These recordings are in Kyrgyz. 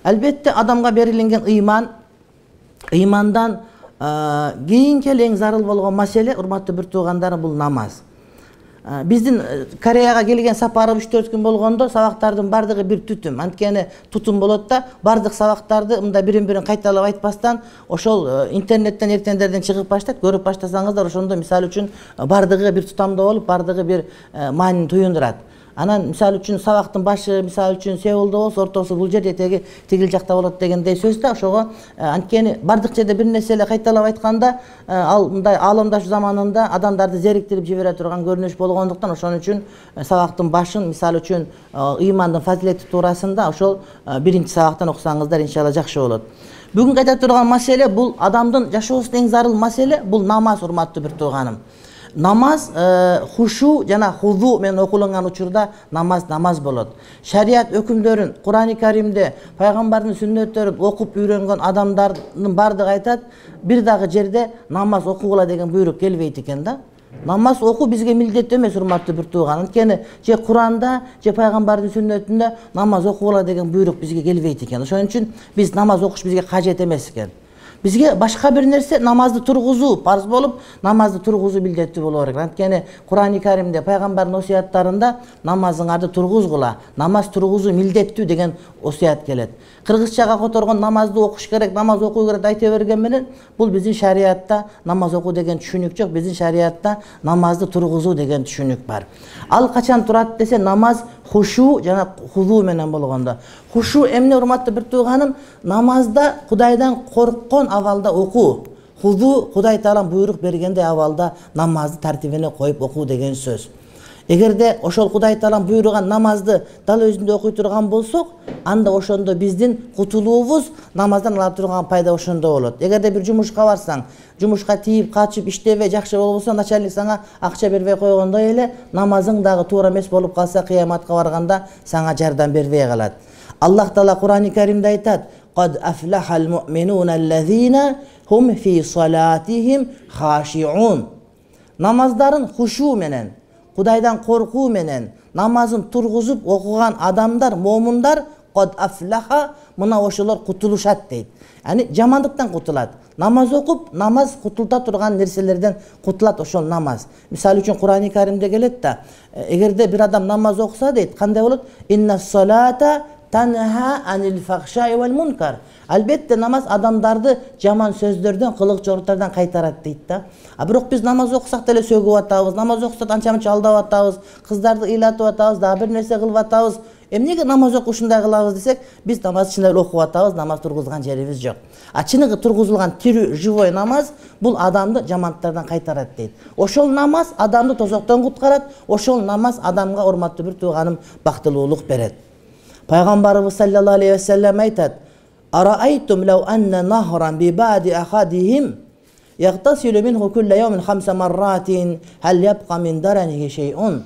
Албетте адамга берилген ыймандан кийинки эң зарыл болгон маселе, урматтуу бир туугандарым, бул намаз. Биздин Кореяга келген сапарыбыз 3-4 күн болгондо сабактардын бардыгы бир түтүм. Анткени тутум болот да, бардык сабактарды мында бирин-бирин кайталап айтпастан, ошол интернеттен эртендерден чыгып баштайт, көрүп баштасаңыздар, ошондо мисалы үчүн бардыгы бир тутамда болуп, бардыгы бир маанини туюндурат. Анан мисалы үчүн сабактын башы мисалы үчүн Сеулда болсо, ортосу бул жерде, этеги тигил жакта болот дегендей сөз да. Ошого анткени бардык жерде бир нерселе кайталап айтканда, ал мындай аламдаш заманында адамдарды зериктирип жибере турган көрүнүш болгондуктан, ошон үчүн сабактын башын мисалы үчүн ыймандын фазилети туурасында ошол биринчи сабактан окусаңыздар иншалла жакшы болот. Бүгүн айта турган маселе бул адамдын жашоосунун эң зарыл маселе, бул намаз, урматтуу бир тууганым. Намаз хушу жана хузу менен окулган учурда намаз болот. Шарият өкүмдөрүн Кур'ани Каримде, пайгамбардын сүннөттөрүн окуп үйрөнгөн адамдардын бардыгы айтат, бир дагы жерде намаз окугула деген буйрук келбейт экен да. Намаз окуу бизге милдеттүү эмес, урматтуу бир тууган. Анткени же Кур'анда, же пайгамбардын сүннөтүндө намаз окугула деген буйрук бизге келбейт экен. Ошон үчүн биз намаз окуш бизге кажет эмес экен. Бизге башка бир нерсе намазды тургузуу парз болуп, намазды тургузуу милдеттүү боло керек. Анткени Кур'ани Каримде, пайгамбардын осуяттарында намазыңарды тургузгула, намаз тургузуу милдеттүү деген осуят келет. Кыргызчага которгон намазды окуш керек, намаз окуу керек айта берген менен, бул биздин шариятта намаз окуу деген түшүнүк жок. Биздин шариятта намазды тургузуу деген түшүнүк бар. Ал качан турат десе, намаз хушу жана хузу менен болгондо. Хушу эмне, урматтуу бир тууганым? Намазда Кудайдан корккон абалда окуу. Хузу Кудай Таалам буйрук бергендей абалда намазды тартибине коюп окуу деген сөз. Эгерде ошол Кудай Таалам буйруган намазды дал өзүндө окуй турган болсок, анда ошондо биздин кутулуубуз намаздан ала турган пайда ошондо болот. Эгерде бир жумушка барсаң, жумушка тийип, качып, иштебей жакшы болбосо, начальник сага акча бербей койгондой эле, намазың дагы туура эмес болуп калса, кыяматка барганда сага жардам бербей калат. Аллах Таала Кур'ани Каримде айтат: "Qad aflahal mu'minuna allazina hum fi salatihim khashi'un." Намаздарын хушу менен, Кудайдан коркуу менен намазын тургузуп окуган адамдар, момундар, qad aflaha, мына ошолор кутулушат дейт. Яни жамандыктан кутулат. Намаз окуп, намаз кутулта турган нерселерден кутулат ошол намаз. Мисалы үчүн Кур'ани Каримде келет да, эгерде бир адам намаз окуса дейт, кандай болот? Инна салата танха анил фахшаи вал мункар. Албетте намаз адамдарды жаман сөздөрдөн, кылык чоруктордон кайтарат дейт да. А бирок биз намаз окусак деле сөгүп атабыз, намаз окусак анча-мынча алдап атабыз, кыздарды ыйлатып атабыз, дагы бир нерсе кылып атабыз. Эмнеге намаз окуп ушундай кылабыз десек, биз намаз чын эле окуп атабыз, намаз тургузган жерибиз жок. А чыныгы тургузулган тирүү, живой намаз бул адамды жамандыктардан кайтарат дейт. Ошол намаз адамды тозоктон куткарат, ошол намаз адамга, урматтуу бир тууганым, бактылуулук берет. Пайгамбарыбыз саллаллаху алейхи ва саллям айтат: "Араайтум лау анна нахран би бади ахадихим яхтасилу минху кулла яумин 5 марратин хал ябқа мин дараниhi шейун."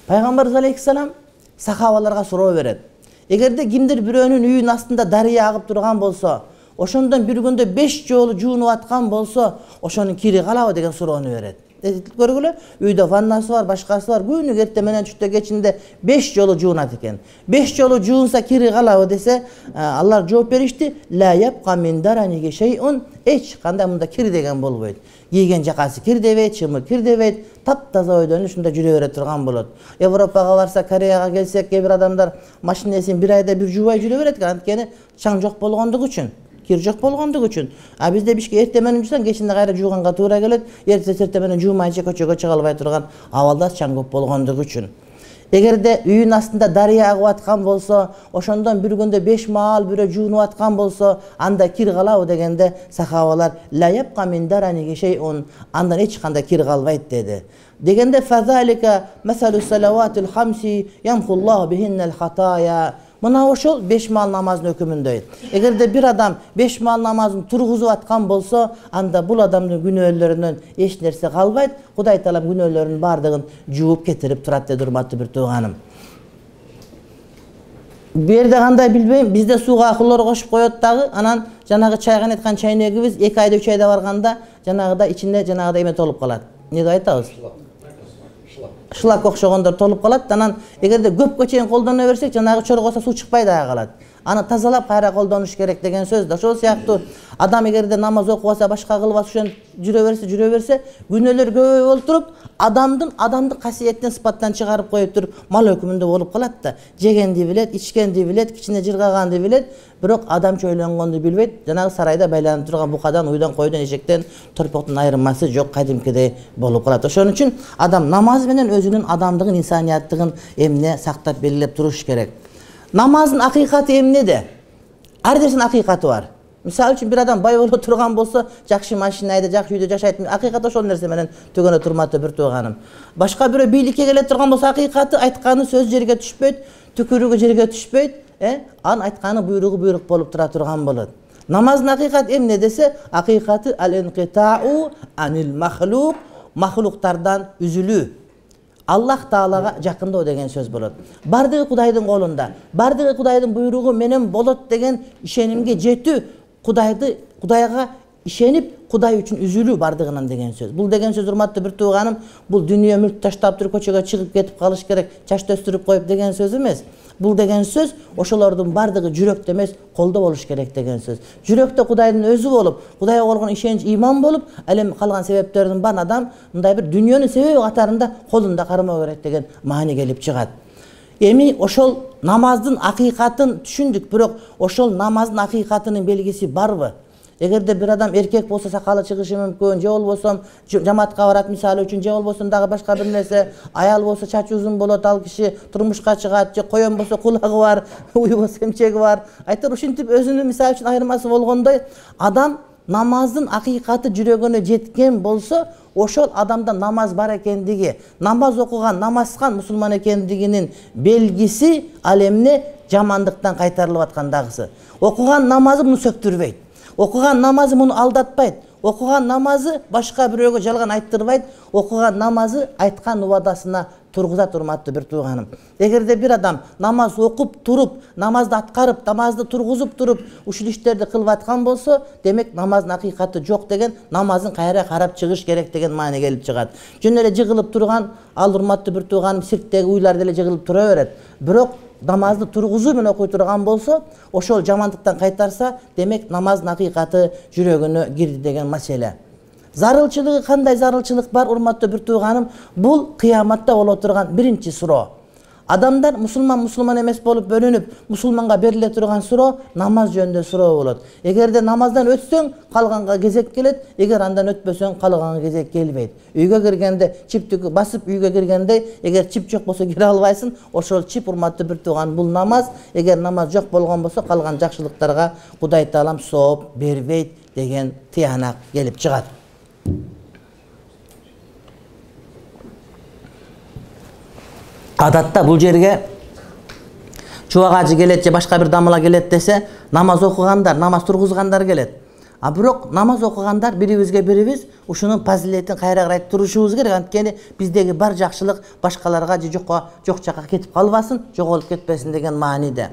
Пайгамбарыбыз алейхиссалам сахабаларга суроо берет. Эгерде кимдир бирөөнүн үйүнүн астында дарыя агып турган болсо, ошондон бир күндө 5 жолу жуунуп аткан болсо, ошонун кири калабы деген суроону берет. Көргүлө, үйдө ваннасы бар, башкасы бар, күнү эртең менен түштө кечинде 5 жолу жуунат экен. 5 жолу жуунса кири калабы десе, алар жооп беришти: "Ла ябқа мин дараниhi шейун", эч кандай мында кир деген болбойт. Кийген жакасы кир дебейт, чымы кир дебейт, таптаза ойдон ушунда жүрө бере турган болот. Европага барса, Кореяга келсек, кээ бир адамдар машинесин бир айда бир жуубай жүрө берет экен, анткени чаң жок болгондугу үчүн. Кир жок болгондугу үчүн. А бизде бишке эртең менен жуусаң, кечинде кайра жууганга туура келет. Эртең менен жуумайча көчөгө чыга албай турган абалда чаң көп болгондугу үчүн. Эгерде үйүнүн астында дарыя агып аткан болсо, ошондон бир күндө 5 маал бирөө жуунуп аткан болсо, анда кир калабы дегенде сахабалар: "Ла ябқа мин дараниhi шейун", андан эч кандай кир калбайт деди. Дегенде фазалика масалу салаватул хамси ямхуллаху бихиннал хатая. Мына ошол 5 маал намаздын өкүмүндөй. Эгерде бир адам 5 маал намазын тургузуп аткан болсо, анда бул адамдын күнөөлөрүнөн эч нерсе калбайт. Кудай Таалам күнөөлөрүнүн бардыгын жууп кетирип турат деди, урматтуу бир тууганым. Бу жерде кандай билбейм, бизде сууга хлор кошуп коет дагы, анан жанагы чайган айткан чайнегибиз 2 айда 3 айда барганда жанагыда ичинде жанагыдай эме толуп калат. Эмне деп айтабыз? Шлак окшогондор толуп калат. Анан эгерде көпкө чейин колдоно берсек, жанагы чоргосо суу чыкпай дагы калат. аны тазалап кайра колдонуш керек деген сөз да. Ошол сыяктуу адам эгерде намаз окубаса, башка кылбаса, ошентип жүрө берсе, күнөөлөр көбөйүп олтуруп, адамдык касиеттен, сыпаттан чыгарып коюп туруп, мал өкүмүндө болуп калат да. Жегенди билет, ичкенди билет, кичине жыргаганды билет, бирок адамча ойлонгонду билбейт. Жанагы сарайда байланып турган букадан, уйдан, койдон, эшектен, торпоктун айырмасы жок, кадимкидей болуп калат. Ошон үчүн адам намаз менен өзүнүн адамдыгын, инсанияттыгын эмне сактап белгилеп туруш керек. Намаздын акыйкаты эмнеде? Ар нерсенин акыйкаты бар. Мисалы үчүн бир адам бай боло турган болсо, жакшы машинада, жакшы үйдө жашайт. Акыйкаты ошол нерсе менен төгөнө турматты бир тууганым. Башка бирөө бийликке келе турган болсо, акыйкаты айтканы сөз жерге түшпөйт, түкүрүгү жерге түшпөйт, анын айтканы буйругу буйрук болуп тура турган болот. Намаздын акыйкаты эмне десе, акыйкаты ал-инқитау анил махлук, махлуктардан үзүлүү. Аллах Таалага жакындоо деген сөз болот. Бардыгы Кудайдын колунда, бардыгы Кудайдын буйругу менен болот деген ишенимге жетүү, Кудайга ишенип, Кудай үчүн үзүлүү бардыгынан деген сөз. Бул деген сөз, урматтуу бир тууганым, бул дүйнө мүлк таштап туруп көчөгө чыгып кетип калыш керек, чач төстүрүп коюп деген сөз эмес. Бул деген сөз ошолордун бардыгы жүрөктө эмес, колдо болуш керек деген сөз. Жүрөктө Кудайдын өзү болуп, Кудайга болгон ишенич, иман болуп, ал эми калган себептердин баарын адам мындай бир дүйнөнүн себеби катарында колунда кармоо керек деген маани келип чыгат. Эми ошол намаздын акыйкатын түшүндүк, бирок ошол намаздын акыйкатынын белгиси барбы? Эгерде бир адам эркек болсо сакалы чыгышы мүмкүн, же болбосо жамаатка барат мисалы үчүн, же болбосо дагы башка бир нерсе, аял болсо чачы узун болот, ал киши турмушка чыгат, же коен болсо кулагы бар, уй болсо эмчеги бар. Айтор ушинтип өзүнүн мисалы үчүн айырмасы болгондой, адам намаздын акыйкаты жүрөгүнө жеткен болсо, ошол адамда намаз бар экендиги, намаз окуган, намазкан мусулман экендигинин белгиси ал эмне? Жамандыктан кайтарылып аткандагысы. Окуган намазы муну сөктүрбөйт. Окуган намазы муну алдатпайт. Окуган намазы башка бирөөгө жалган айттырбайт. Окуган намазы айткан убадасына тургузат, урматтуу бир тууганым. Эгерде бир адам намаз окуп туруп, намазды аткарып, намазды тургузуп туруп, ушул иштерди кылып аткан болсо, демек намаздын акыйкаты жок деген, намазын кайра карап чыгыш керек деген маани келип чыгат. Жөн эле жыгылып турган, ал урматтуу бир тууганым, сирктеги уйлар деле жыгылып тура берет. Бирок намазды тургузуу менен окуй турган болсо, ошол жамандыктан кайтарса, демек намаздын акыйкаты жүрөгүнө кирди деген маселе. Зарылчылыгы кандай зарылчылык бар, урматтуу бир тууганым? Бул кыяматта боло турган биринчи суроо. Адамдар мусулман эмес болуп бөлүнүп, мусулманга бериле турган суроо намаз жөнүндө суроо болот. Эгерде намаздан өтсөң, калганга кезек келет, эгер андан өтпөсөң, калганга кезек келбейт. Үйгө киргенде чиптү басып үйгө киргенде, эгер чип жок болсо кире албайсың, ошол чип, урматтуу бир тууган, бул намаз. Эгер намаз жок болгон болсо, калган жакшылыктарга Кудай Таалам сооп бербейт деген тыянак келип чыгат. Адатта бул жерге чубак ажы келет же башка бир дамыла келет десе, намаз окугандар, намаз тургузгандар келет. А бирок намаз окугандар бирибизге бирибиз ушунун фазилетин кайра карай турушубуз керек. Анткени биздеги бар жакшылык башкаларга же жок жакка кетип калбасын, жоголуп кетпесин деген мааниде.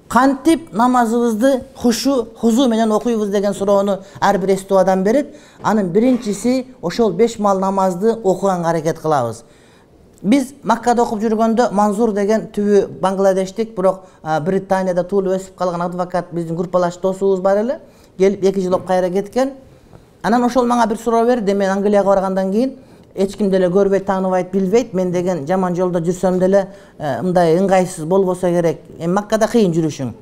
Кантип намазыбызды хузу менен окуйбуз деген суроону ар бир эстүү адам берет. Анын биринчиси ошол 5 мал намазды окуганга аракет кылабыз. Биз Маккада окуп жүргөндө Манзур деген түбү Бангладештик, бирок Британияда туулуп өсүп калган адвокат биздин группалаш досубуз бар эле. Келип 2 жыл окуп кайра кеткен. Анан ошол мага бир суроо берди. Мен Англияга баргандан кийин эч ким деле көрбөйт, тааныбайт, билбейт. Мен деген жаман жолдо жүрсөм деле мындай ыңгайсыз болбосо керек. Маккада кыйын жүрүшүң.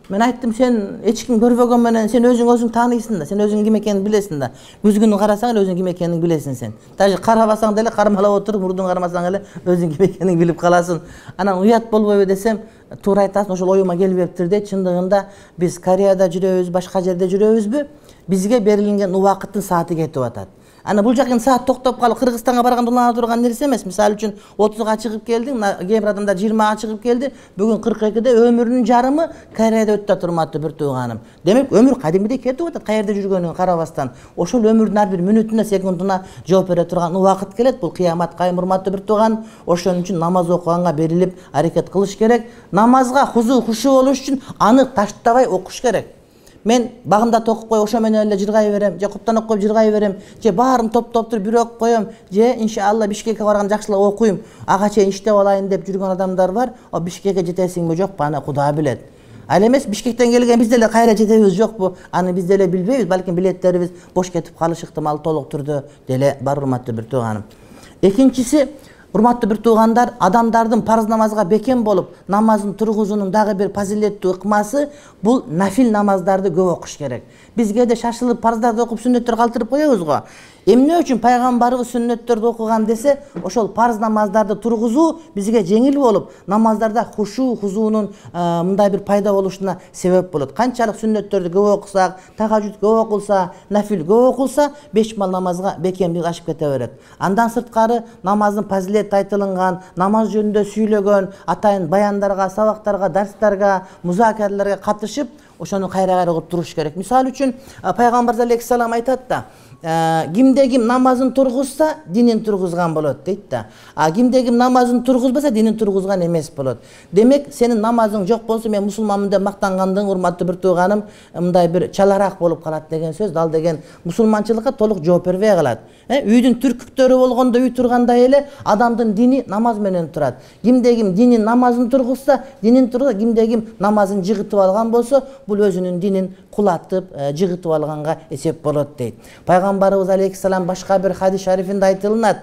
Мен айттым, сен эч ким көрбөгөн менен сен өзүң тааныйсың да, сен өзүң ким экенин билесиң да. Күзгүнү карасаң эле өзүң ким экенин билесиң сен. Даже карабасаң деле кармалап отуруп, мурдун кармасаң эле өзүң ким экенин билип каласың. Анан уят болбойбу десем, туура айтасың, ошол оюма келбептир дейт. Чындыгында биз Кореяда жүрөбүз, башка жерде жүрөбүзбү? Бизге берилген убакыттын сааты кетип атат. Аны бул жакын саат токтоп калып Кыргызстанга барганда улана турган нерсе эмес. Мисалы үчүн 30га чыгып келдиң, кээ бир адамдар 20га чыгып келди. Бүгүн 42де өмүрүнүн жарымы Кореяда өтүп турматтуу бир тууганым. Демек өмүр кадимгидей кетип атат, каерде жүргөнүн карабастан. Ошол өмүрдүн ар бир мүнөтүнө, секундуна жооп бере турган убакыт келет. Бул кыямат кайым, урматтуу бир тууганым. Ошон үчүн намаз окуганга берилип аракет кылыш керек. Намазга хушу болуш үчүн аны таштабай окуш керек. Мен багымда окуп кой, ошо менен эле жыргай берем, же куптан окуп жыргай берем, же баарын топтоп туруп бир окуп коем, же иншалла Бишкекке барган жакшылап окуйм, ага чейин иштеп алайын деп жүргөн адамдар бар. Бишкекке жетесиңби жокпу, аны Кудай билет. Ал эмес Бишкектен келген биз деле кайра жетебиз жокпу? Аны биз деле билбейбиз, балким билеттерибиз бош кетип калышы ыктымалы толук түрдө деле бар, урматтуу бир тууганым. Экинчиси, урматтуу бир туугандар, адамдардын парыз намазга бекем болуп, намазын тургузуунун дагы бир фазилеттүү ыкмасы бул нафил намаздарды көп окуш керек. Биз кээде шашылып парыздарды окуп сүннөттөр калтырып коебуз го. Эмне үчүн пайгамбарыбыз сүннөттөрдү окуган десе, ошол парыз намаздарды тургузуу бизге жеңил болуп, намаздарда хушу, хузуунун мындай бир пайда болушуна себеп болот. Канчалык сүннөттөрдү көп окусак, тахажжуд көп окулса, нафил көп окулса, 5 мал намазга бекемдик ашып кете берет. Андан сырткары намаздын фазилети айтылган, намаз жөнүндө сүйлөгөн, атайын баяндарга, сабактарга, дарстарга, музакерлерге катышып, ошону кайра-кайра окуп туруш керек. Мисалы үчүн пайгамбарыбыз алейхиссалам айтат да, кимде ким намазын тургузса, динин тургузган болот дейт да. Кимде ким намазын тургузбаса, динин тургузган эмес болот. Демек, сенин намазың жок болсо, мен мусулманмын деп мактангандыгың, урматтуу бир тууганым, мындай бир чалараак болуп калат деген сөз. Ал деген мусулманчылыкка толук жооп бербей калат. Үйдүн түркүктөрү болгондо үй тургандай эле адамдын дини намаз менен турат. Кимде ким динин намазын тургузса, динин тургузса, кимде ким намазын жыгытып алган болсо, бул өзүнүн динин кулатып, жыгытып алганга эсеп болот дейт. Пайгамбарыбыз алейхиссалам башка бир хадис шарифинде айтылат.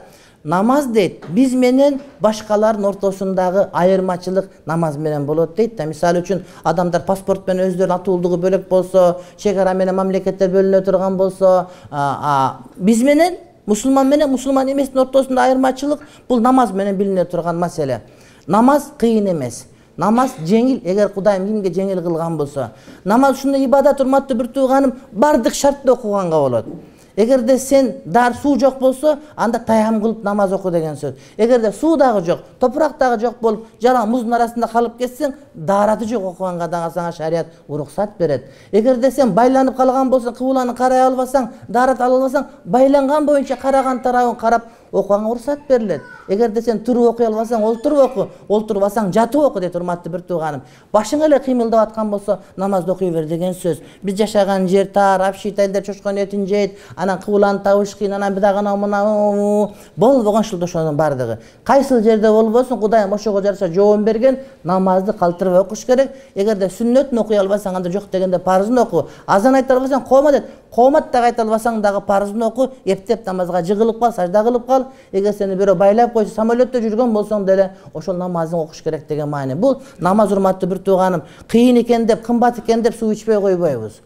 Намаз дейт, биз менен башкалардын ортосундагы айырмачылык намаз менен болот дейт да. Мисалы үчүн адамдар паспорт менен өздөрүнүн атуулдугу бөлөк болсо, чек ара менен мамлекеттер бөлүнө турган болсо, биз менен мусулман менен мусулман эместин ортосунда айырмачылык бул намаз менен билине турган маселе. Намаз кыйын эмес. Намаз жеңил, эгер Кудайым кимге жеңил кылган болсо. Намаз ушундай ибадат, урматтуу бир тууганым, бардык шартты окуганга болот. Эгерде сен дар суу жок болсо, анда таям кылып намаз оку деген сөз. Эгерде суу дагы жок, топурак дагы жок болуп, жалаң муздун арасында калып кетсең, даараты жок окуганга дагы сага шарият уруксат берет. Эгерде сен байланып калган болсоң, кыбланы карай албасаң, даарат ала албасаң, байланган боюнча караган тарабын карап окуганга уруксат берилет. Эгерде сен туруп окуй албасаң, олтуруп оку, олтурбасаң жатып оку дейт, урматтуу бир тууганым. Башың эле кыймылдап аткан болсо, намазды окуй бер деген сөз. Биз жашаган жер тар, апшит элдер чочкон этин жейт, анан кыбланын табыш кыйын, анан бидагана мына болбогон ушул ошонун бардыгы. Кайсыл жерде болбосун, Кудайым ошого жараша жообун берген, намазды калтырбай окуш керек. Эгерде сүннөтүн окуй албасаң, анда жок дегенде парызын оку. Азан айта албасаң, коомат эт. Коомат да айта албасаң дагы парызын оку, эптеп намазга жыгылып кал, сажда кылып кал. Эгер сени бирөө байлап койсо, самолетте жүргөн болсоң деле ошол намазың окуш керек деген маани. Бул намаз, урматтуу бир тууганым, кыйын экен деп, кымбат экен деп суу ичпей койбойбуз.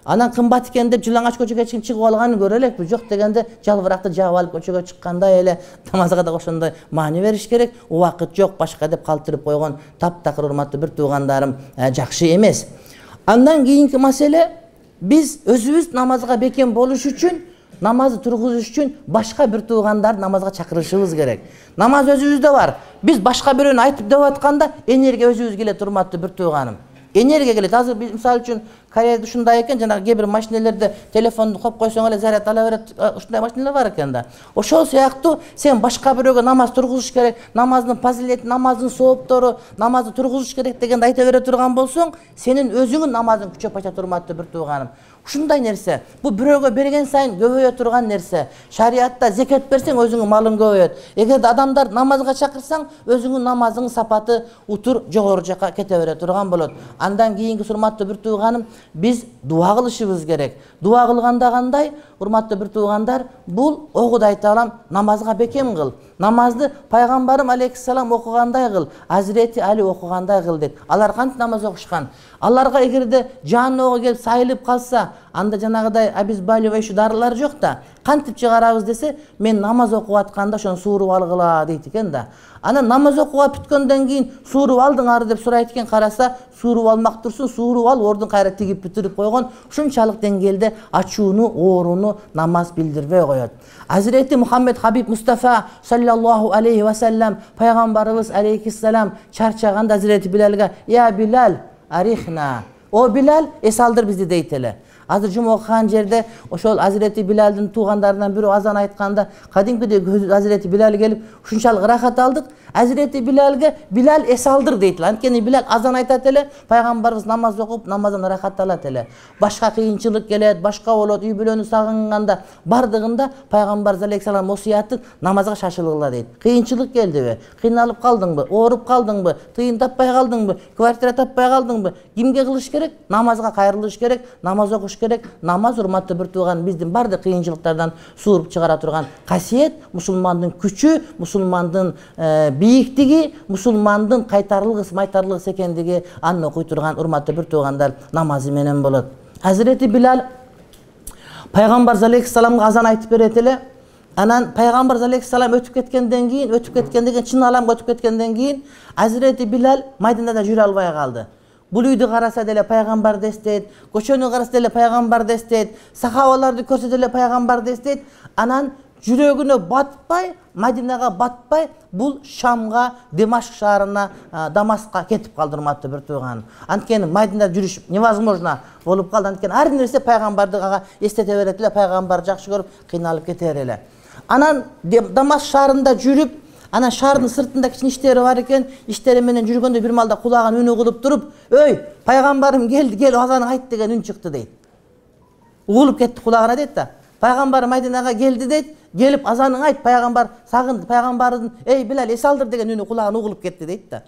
Анан кымбат экен деп жылаңач көчөгө чыгып алганын көрө элекпиз. Жок дегенде жалбыракты жаап алып көчөгө чыккандай эле намазга да ошондой маани бериш керек. Убакыт жок, башка деп калтырып койгон таптакыр, урматтуу бир туугандарым, жакшы эмес. Андан кийинки маселе, биз өзүбүз намазга бекем болуш үчүн, намазды тургузуш үчүн башка бир туугандар намазга чакырышыбыз керек. Намаз өзүбүздө бар. Биз башка бирөөнү айтып деп атканда энергия өзүбүз келет, урматтуу бир тууганым. Энергия келет. Азыр биз мисалы үчүн Кореяда ушундай экен, жанагы кээ бир машинелерде телефонду коюп койсоң эле заряд ала берет. Ушундай машиналар бар экен да. Ошол сыяктуу сен башка бирөөгө намаз тургузуш керек, намаздын фазилети, намаздын сооптору, намазды тургузуш керек дегенди айта бере турган болсоң, сенин өзүңүн намазың күчөп качат, урматтуу бир тууганым. Ушундай нерсе. Бул бирөөгө берген сайын көбөйө турган нерсе. Шариатта зекет берсең, өзүңүн малың көбөйөт. Эгерде адамдар намазга чакырсаң, өзүңүн намазыңдын сапаты утур жогору жакка кете бере турган болот. Андан кийинки, урматтуу бир тууганым, биз дуа кылышыбыз керек. Дуа кылганда кандай? Урматтуу бир туугандар, бул огуда айта алам, намазга бекем кыл. Намазды пайгамбарым алейхиссалам окугандай кыл, Азирети Али окугандай кыл дейт. Алар кантип намаз окушкан? Аларга эгерде жааныбга келип сайылып калса, анда жанагыдай обезболивающий дарылар жок да. Кантип чыгарабыз десе, мен намаз окуп атканда ошону сууруп алгыла дейт экен да. Анан намаз окууга бүткөндөн кийин сууруп алдыңар деп сурайт экен, караса сууруп алмак турсун, сууруп алып ордун кайра тигип бүтүрүп койгон. Ушунчалык деңгээлде ачууну, ооруну намаз билдирбей коет. Азирети Мухаммед Хабиб Мустафа саллаллаху алейхи ва саллям, пайгамбарыбыз алейхиссалам чарчаганда Азирети Билалга: "Я Билал, арихна". О Билал, эс алдыр бизди дейт эле. Азыр жума окуган жерде ошол Азирети Билалдын туугандарынан бирөө азан айтканда кадимкидей Азирети Билал келип ушунчалык ырахат алдык. Азирети Билалге Билал эс алдыр дейт. Анткени Билал азан айтат эле, пайгамбарыбыз намаз окуп, намаздан ырахат алат эле. Башка кыйынчылык келет, башка болот, үй бүлөнү сагынганда бардыгында пайгамбар алейхиссалам осуяты намазга шашылгыла дейт. Кыйынчылык келдиби? Кыйналып калдыңбы? Ооруп калдыңбы? Тыйын таппай калдыңбы? Квартира таппай калдыңбы? Кимге кылыш керек? Намазга кайрылыш керек, намаз окуш керек. Намаз урматтуу бир тууган биздин бардык кыйынчылыктардан сууруп чыгара турган касиет, мусулмандын күчү, мусулмандын бийиктиги, мусулмандын кайтарлыгыс, майтарлыгыс экендиги аны окуй турган урматтуу бир туугандар намазы менен болот. Hazreti Bilal Пайгамбар алейхиссаламга азан айтып берет эле. Анан Пайгамбар алейхиссалам өтүп кеткенден кийин, чын аламга өтүп кеткенден кийин Hazreti Bilal Майдинада жүрө албай калды. Бул үйдү караса деле пайгамбарды эстейт, көчөнү караса деле пайгамбарды эстейт, сахабаларды көрсө деле пайгамбарды эстейт. Анан жүрөгүнө батпай, Мадинага батпай, бул Шамга, Димашк шаарына, Дамаскка кетип калды урматтуу бир тууган. Анткени Мадинада жүрүш невозможно болуп калды. Анткени ар нерсе пайгамбарды эстете берет эле, пайгамбарды жакшы көрүп, кыйналып кетер эле. Анан Дамаск шаарында жүрүп, анан шаардын сыртында кичине иштери бар экен. Иштери менен жүргөндө бир малда кулагын үнү кылып туруп, "Өй, пайгамбарым келди, кел азан айт" деген үн чыкты дейт. Угулуп кетти кулагына дейт да. Пайгамбар Мадинага келди дейт. Келип азанын айт, пайгамбар сагынды, пайгамбардын "Эй Билал, эс алдыр" деген үнү кулагына угулуп кетти дейт да.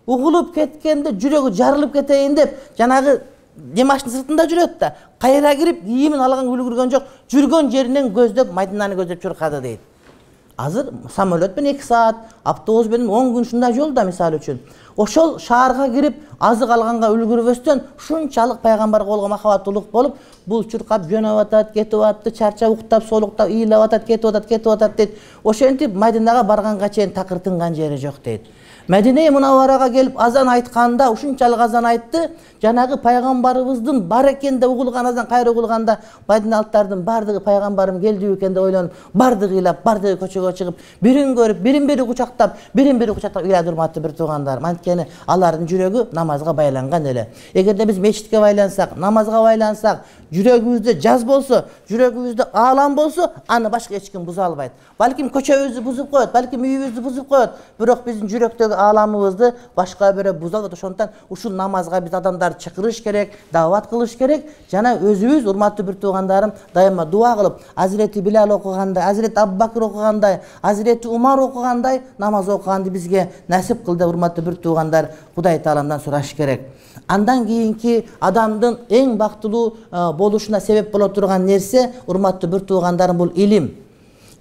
Угулуп кеткенде жүрөгү жарылып кетейин деп, жанагы Димаштын сыртында жүрөт да. Кайра кирип, кийимин алган үлгүргөн жок, жүргөн жеринен көздөп, Мадинаны көздөп чуркады дейт. Азыр самолет менен 2 саат, автобус менен 10 күн ушундай жолда мисалы үчүн. Ошол шаарга кирип, азык алганга үлгүрбөстөн ушунчалык пайгамбарга болгон махабаттуулук болуп, бул чуркап жөнөп атат, кетип атты, чарчап, уктап, солуктап, ыйлап атат, кетип атат дейт. Ошентип Мадинага барганга чейин такыр тынган жери жок дейт. Медине Мунавварага келип азан айтканда, ушунчалык азан айтты, жанагы пайгамбарыбыздын бар экен деп угулган азан кайра угулганда, Мадиналыктардын бардыгы пайгамбарым келди экен деп ойлонуп, бардыгы ыйлап, бардыгы көчөгө чыгып, бирин көрүп, бирин-бири кучактап, ыйлады урматтуу бир туугандар. Анткени алардын жүрөгү намазга байланган эле. Эгерде биз мечитке байлансак, намазга байлансак, жүрөгүбүздө жаз болсо, жүрөгүбүздө аалам болсо, аны башка эч ким буза албайт. Балким көчөбүздү бузуп коет, балким үйүбүздү бузуп коет, бирок биздин жүрөктөгү ааламыбызды башка бирөө буза албайт. Ошондуктан ушул намазга биз адамдарды чакырыш керек, даават кылыш керек. Жана өзүбүз урматтуу бир туугандарым дайыма дуа кылып, Hazreti Bilal окугандай, Hazreti Абубакыр окугандай, Hazreti Умар окугандай намаз окуганды бизге насип кыл деп урматтуу бир туугандар Кудай Тааламдан сураш керек. Андан кийинки адамдын эң бактылуу болушуна себеп боло турган нерсе урматтуу бир туугандарым бул илим.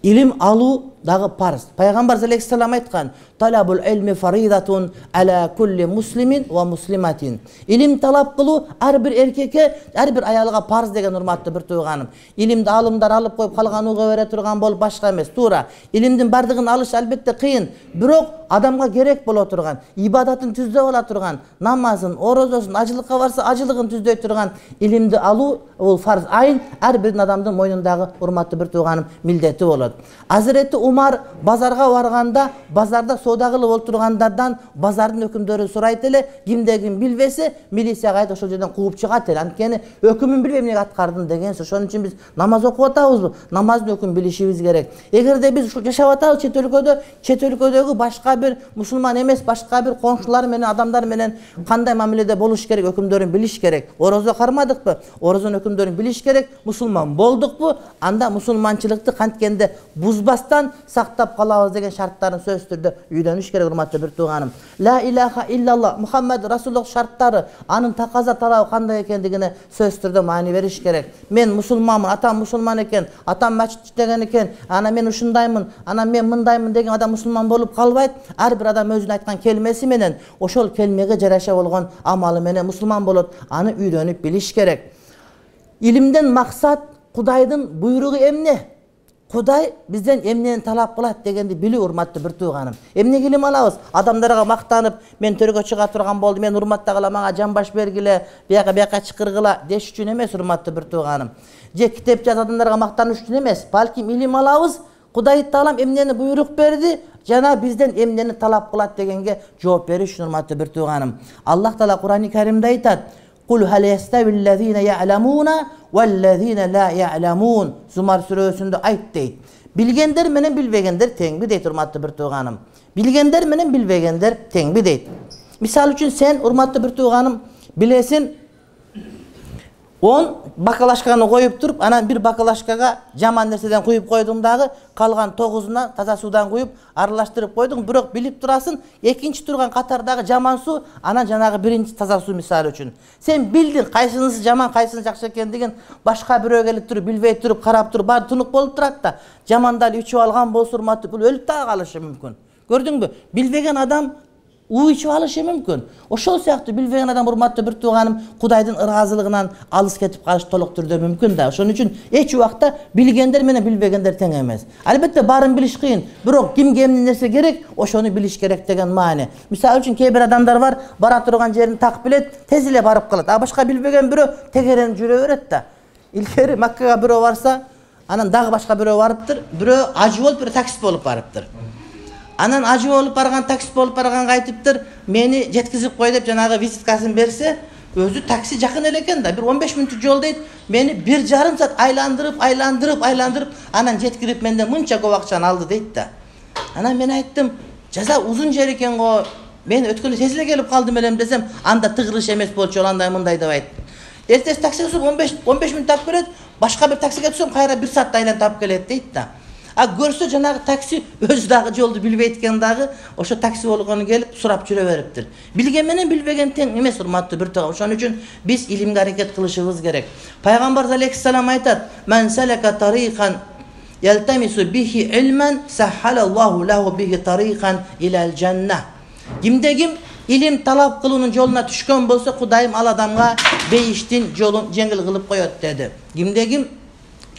Илим алуу дагы парз. Пайгамбар алейхиссалам айткан: "Талабул илми фаридатун ала кулли муслимин ва муслиматин." Илим талап кылуу ар бир эркекке, ар бир аялга парз деген урматтуу бир тууганым. Илимди алымдар алып коюп калган уга бере турган болуп башка эмес, туура. Илимдин бардыгын алыш албетте кыйын, бирок адамга керек боло турган, ибадатын түздөп ала турган, намазын, орозосун, ажылыкка барса ажылыгын түздөй турган илимди алуу бул фарз айын ар бир адамдын мойнундагы урматтуу бир тууганым милдети болот. Hazreti Умар базарга барганда, базарда соода кылып олтургандардан базардын өкүмдөрү сурайт эле, кимде ким билбесе, милицияга айтып ошол жерден кууп чыгат эле. Анткени өкүмүн билбей эмнеге аткардың деген сөз. Ошон үчүн биз намаз окуп атабызбы? Намаздын өкүмүн билишибиз керек. Эгерде биз ушул жашап атабыз чет өлкөдөгү башка бир мусулман эмес, башка бир коншулар менен, адамдар менен кандай мамиледе болуш керек, өкүмдөрүн билиш керек. Орозо кармадыкпы? Орозонун өкүмдөрүн билиш керек. Мусулман болдукпу? Анда мусулманчылыкты канткенде бузбастан сактап калабыз деген шарттарын сөзсүз түрдө үйрөнүш керек урматтуу бир тууганым. Ла илаха иллаллах Мухаммад Расулуллах шарттары, анын таказа талабы кандай экендигине сөзсүз түрдө маани бериш керек. Мен мусулманмын, атам мусулман экен, атам мачит деген экен, ана мен ушундаймын, ана мен мындаймын деген адам мусулман болуп калбайт. Ар бир адам өзүнүн айткан келмеси менен, ошол келмеге жараша болгон амалы менен мусулман болот. Аны үйрөнүп билиш керек. Илимден максат Кудайдын буйругу эмне? Кудай бизден эмнени талап кылат дегенди билүү урматтуу бир тууганым. Эмнеге илим алабыз? Адамдарга мактанып, мен төргө чыга турган болдум, мен урматтагыла, мага жамбаш бергиле, бияка чыкыргыла деш үчүн эмес урматтуу бир тууганым. Же китеп жаз адамдарга мактаныш үчүн эмес, балким илим алабыз. Кудай Таалам эмнени буйрук берди, жана бизден эмнени талап кылат дегенге жооп бериш үчүн урматтуу бир тууганым. Аллах Таала Кур'ан-ы Каримде айтат: Kul hal yestevillezine ya'lemuna vellezine la ya'lemun. Zumar surasında ayt deyt. Bilgenler menen bilbegenler teňbi deyt urmatly bir tuğanım. Bilgenler menen bilbegenler teňbi deyt. Misal üçün sen urmatly bir tuğanım bilesin 10 bakalaşkаны koyup durup, anan bir bakalaşkaga jaman nerseden kuyup koydum dağı, kalgan 9'una taza sudan kuyup aralashtirip koydum. Bирок bilip turasın, ekinci turgan katardağı jaman su, anan janağı birinci taza su misal üçün. Sen bildin kaysınысы jaman, kaysınысы jakşı ekendigin başka birөө gelip turup, bilbey turup, karap turup, bar tunup bolup turat da, jamandal içip algan bolsa urmatly bul ölüp dağı kalışı mümkün. Gördüңbü? Bilbegen adam u içip alışı mümkün. Oşol siyaktı bilbegen adam urmatly bir tuğanım Kudayдын ırazılığından alыс ketip kalışı toluk türdө mümkün da. Oşonuň üçin eç wagtda bilgenler menen bilbegenler teң emes. Albatta barın biliş kıyın. Bирок kim kemne nerse gerek, oşonu biliş gerek degen maany. Misal üçün keyber adamlar var, bara turgan jerini tak bilet, tez ele barıp kalat. A başka bilbegen birөө tegeren jüre beret da. İlkeri Makkaga birөө varsa, anan dagы başka birөө barıptır. Birөө ajı bolup, birөө taksist bolup barıptır. Anan acı olup bargan, taksit bolup bargan aytıptır. Meni jetkizip koy dep janağı vizitkasyn berse, özü taksi jakın eleken da. Bir 15 minutlik jol deyt. Meni 1,5 saat aylandırıp anan jetkirip menden mınça көп akçany aldı deyt da. Anan men ayttım, jaza uzun jer eken go. Men ötkülü tez ele gelip kaldım elem desem, anda tıgırış emes bolчу, anday mınday dep ayttım. Ertesi taksiga tutup 15 minut tap kelet, başka bir taksiga tutsam kayra 1 saat aylan tap kelet deyt da. A görse janağı taksi öz dagı joldu bilbeytken dagı oşo taksi bolgonu gelip surap jüre beripdir. Bilgen menen bilbegen teң emes urmatly bir tuğam. Oşoň üçin biz ilimge hareket kılışыбыз gerek. Peygamber aleyhisselam aytat: "Men seleka tariqan yeltamisu bihi ilmen sahhalallahu lehu bihi tariqan ilal cennah." Kimde ilim talap kılının joluna düşkön bolsa Kudayım al adamga beyiştin jolun jengil kılıp koyot dedi. Kimde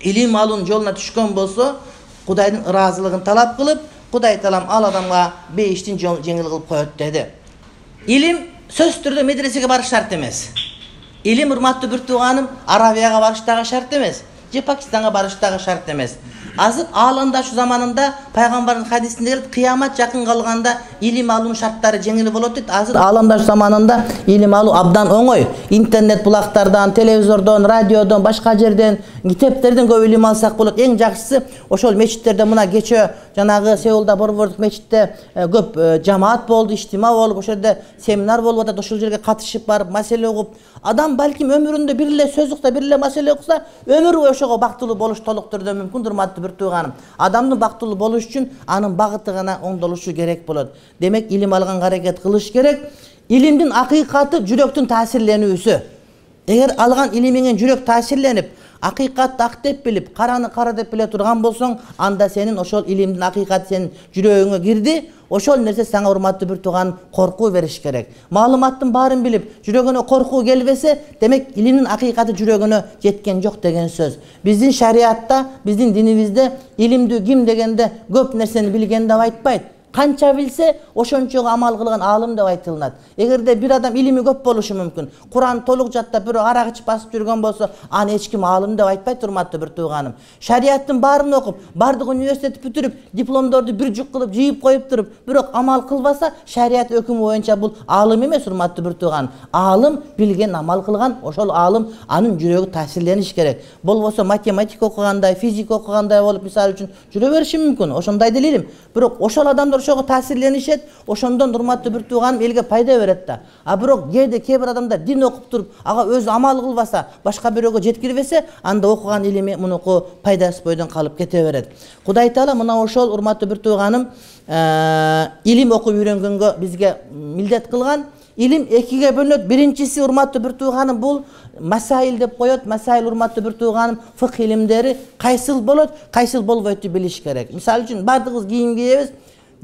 ilim alın joluna düşkön bolsa Kudayдын ırazılığını talap kılıp, Kuday talam al adamga beyiştin jengil kılıp koyot dedi. İlim söz türdө medresege barış şart emes. İlim urmatly bir tuğanım Arabiyaga barış dagı şart emes. Je Pakistanga barış dagı şart emes. Azır alanda şu zamanında Peygamberin hadisinde gelip kıyamet yakın kalganda ilim alın şartları jengil bolot deyt. Azır alanda şu zamanında ilim alı abdan oňoy. İnternet bulaklardan, televizordan, radyodan, başka жерден, kitaplardan көп ilim alsak bolot. Eň jakşysy oşol meçitlerde muna geçe janağı Seulda Borvorduk meçitte көп jamaat boldu, ijtima bolup, oşo yerde seminar bolup atат, oşol жерге katışıp barıp masele okup, adam balkim ömründe birle söz uksa, birle masele okusa, ömür boyu oşoga baktılуу boluş toluk türdө mümkün urmatly bir tuğanım. Adamdın baktılуу boluş üçün anın bagıty gana oňdoluşu gerek bolot. Demek ilim algan hareket kılış gerek. İlimdin akıykatı jürektün tasirlenүүsü. Eger algan ilimingen jürek tasirlenip, akıykatты ak dep bilip, karany kara dep bile turgan bolsoň, anda senin oşol ilimdin akıykatı senin jüregiňe girdi. Oşol nerse sana urmatly bir tuğan korku veriş gerek. Malumattın barın bilip, jüregine korku gelbese, demek ilimin akıykatı jüregine jetken jok degen söz. Bizdin şariatta, bizdin dinimizde ilimdi kim degende köp nerseni bilgen dep aytpayt. Kança bilse, oşonçoga amal kılgan alım dep aytılınat. Egerde bir adam ilimi köp boluşu mümkün. Kur'an toluk jatta bir arak içip basıp жүргөн bolsa, an hiç kim alım dep aytpayt urmatly bir tuğanım. Şariattın barını okup, bardyk üniversiteti бүтүрүp, diplomdordu bir juk kılıp, jıyıp koyup durup, bирок amal kılbasa, şariat ökümü boyunça bul alım emes urmatly bir tuğanım. Alım bilgen amal kılgan, oşol alım anın jüregi tasirleniş gerek. Bolboso matematik okuganday, fizik okuganday bolup misal üçün jüre berişi mümkün. Oşonday delilim. Bирок oşol adamlar oşoga tasirlenişet, oşondan urmatly bir tuğanım elge payda beret da. A bирок keyde keyber adamlar din okup durup, aga öz amal kılbasa, başka biröge jetkirбесе, anda okugan ilimi munuku paydasız boydan kalıp kete beret. Kuday Taala mına oşol urmatly bir tuğanım ilim okup үйrөнгөнгө bizge mildet kılgan. İlim ekiге bölünöt. Birincisi urmatly bir tuğanım bul masail dep koyot. Masail urmatly bir tuğanım fıkh ilimleri kaysyl bolot, kaysyl bolboyttu biliş gerek. Misal üçün bardygыбыз kiyim giyebиз.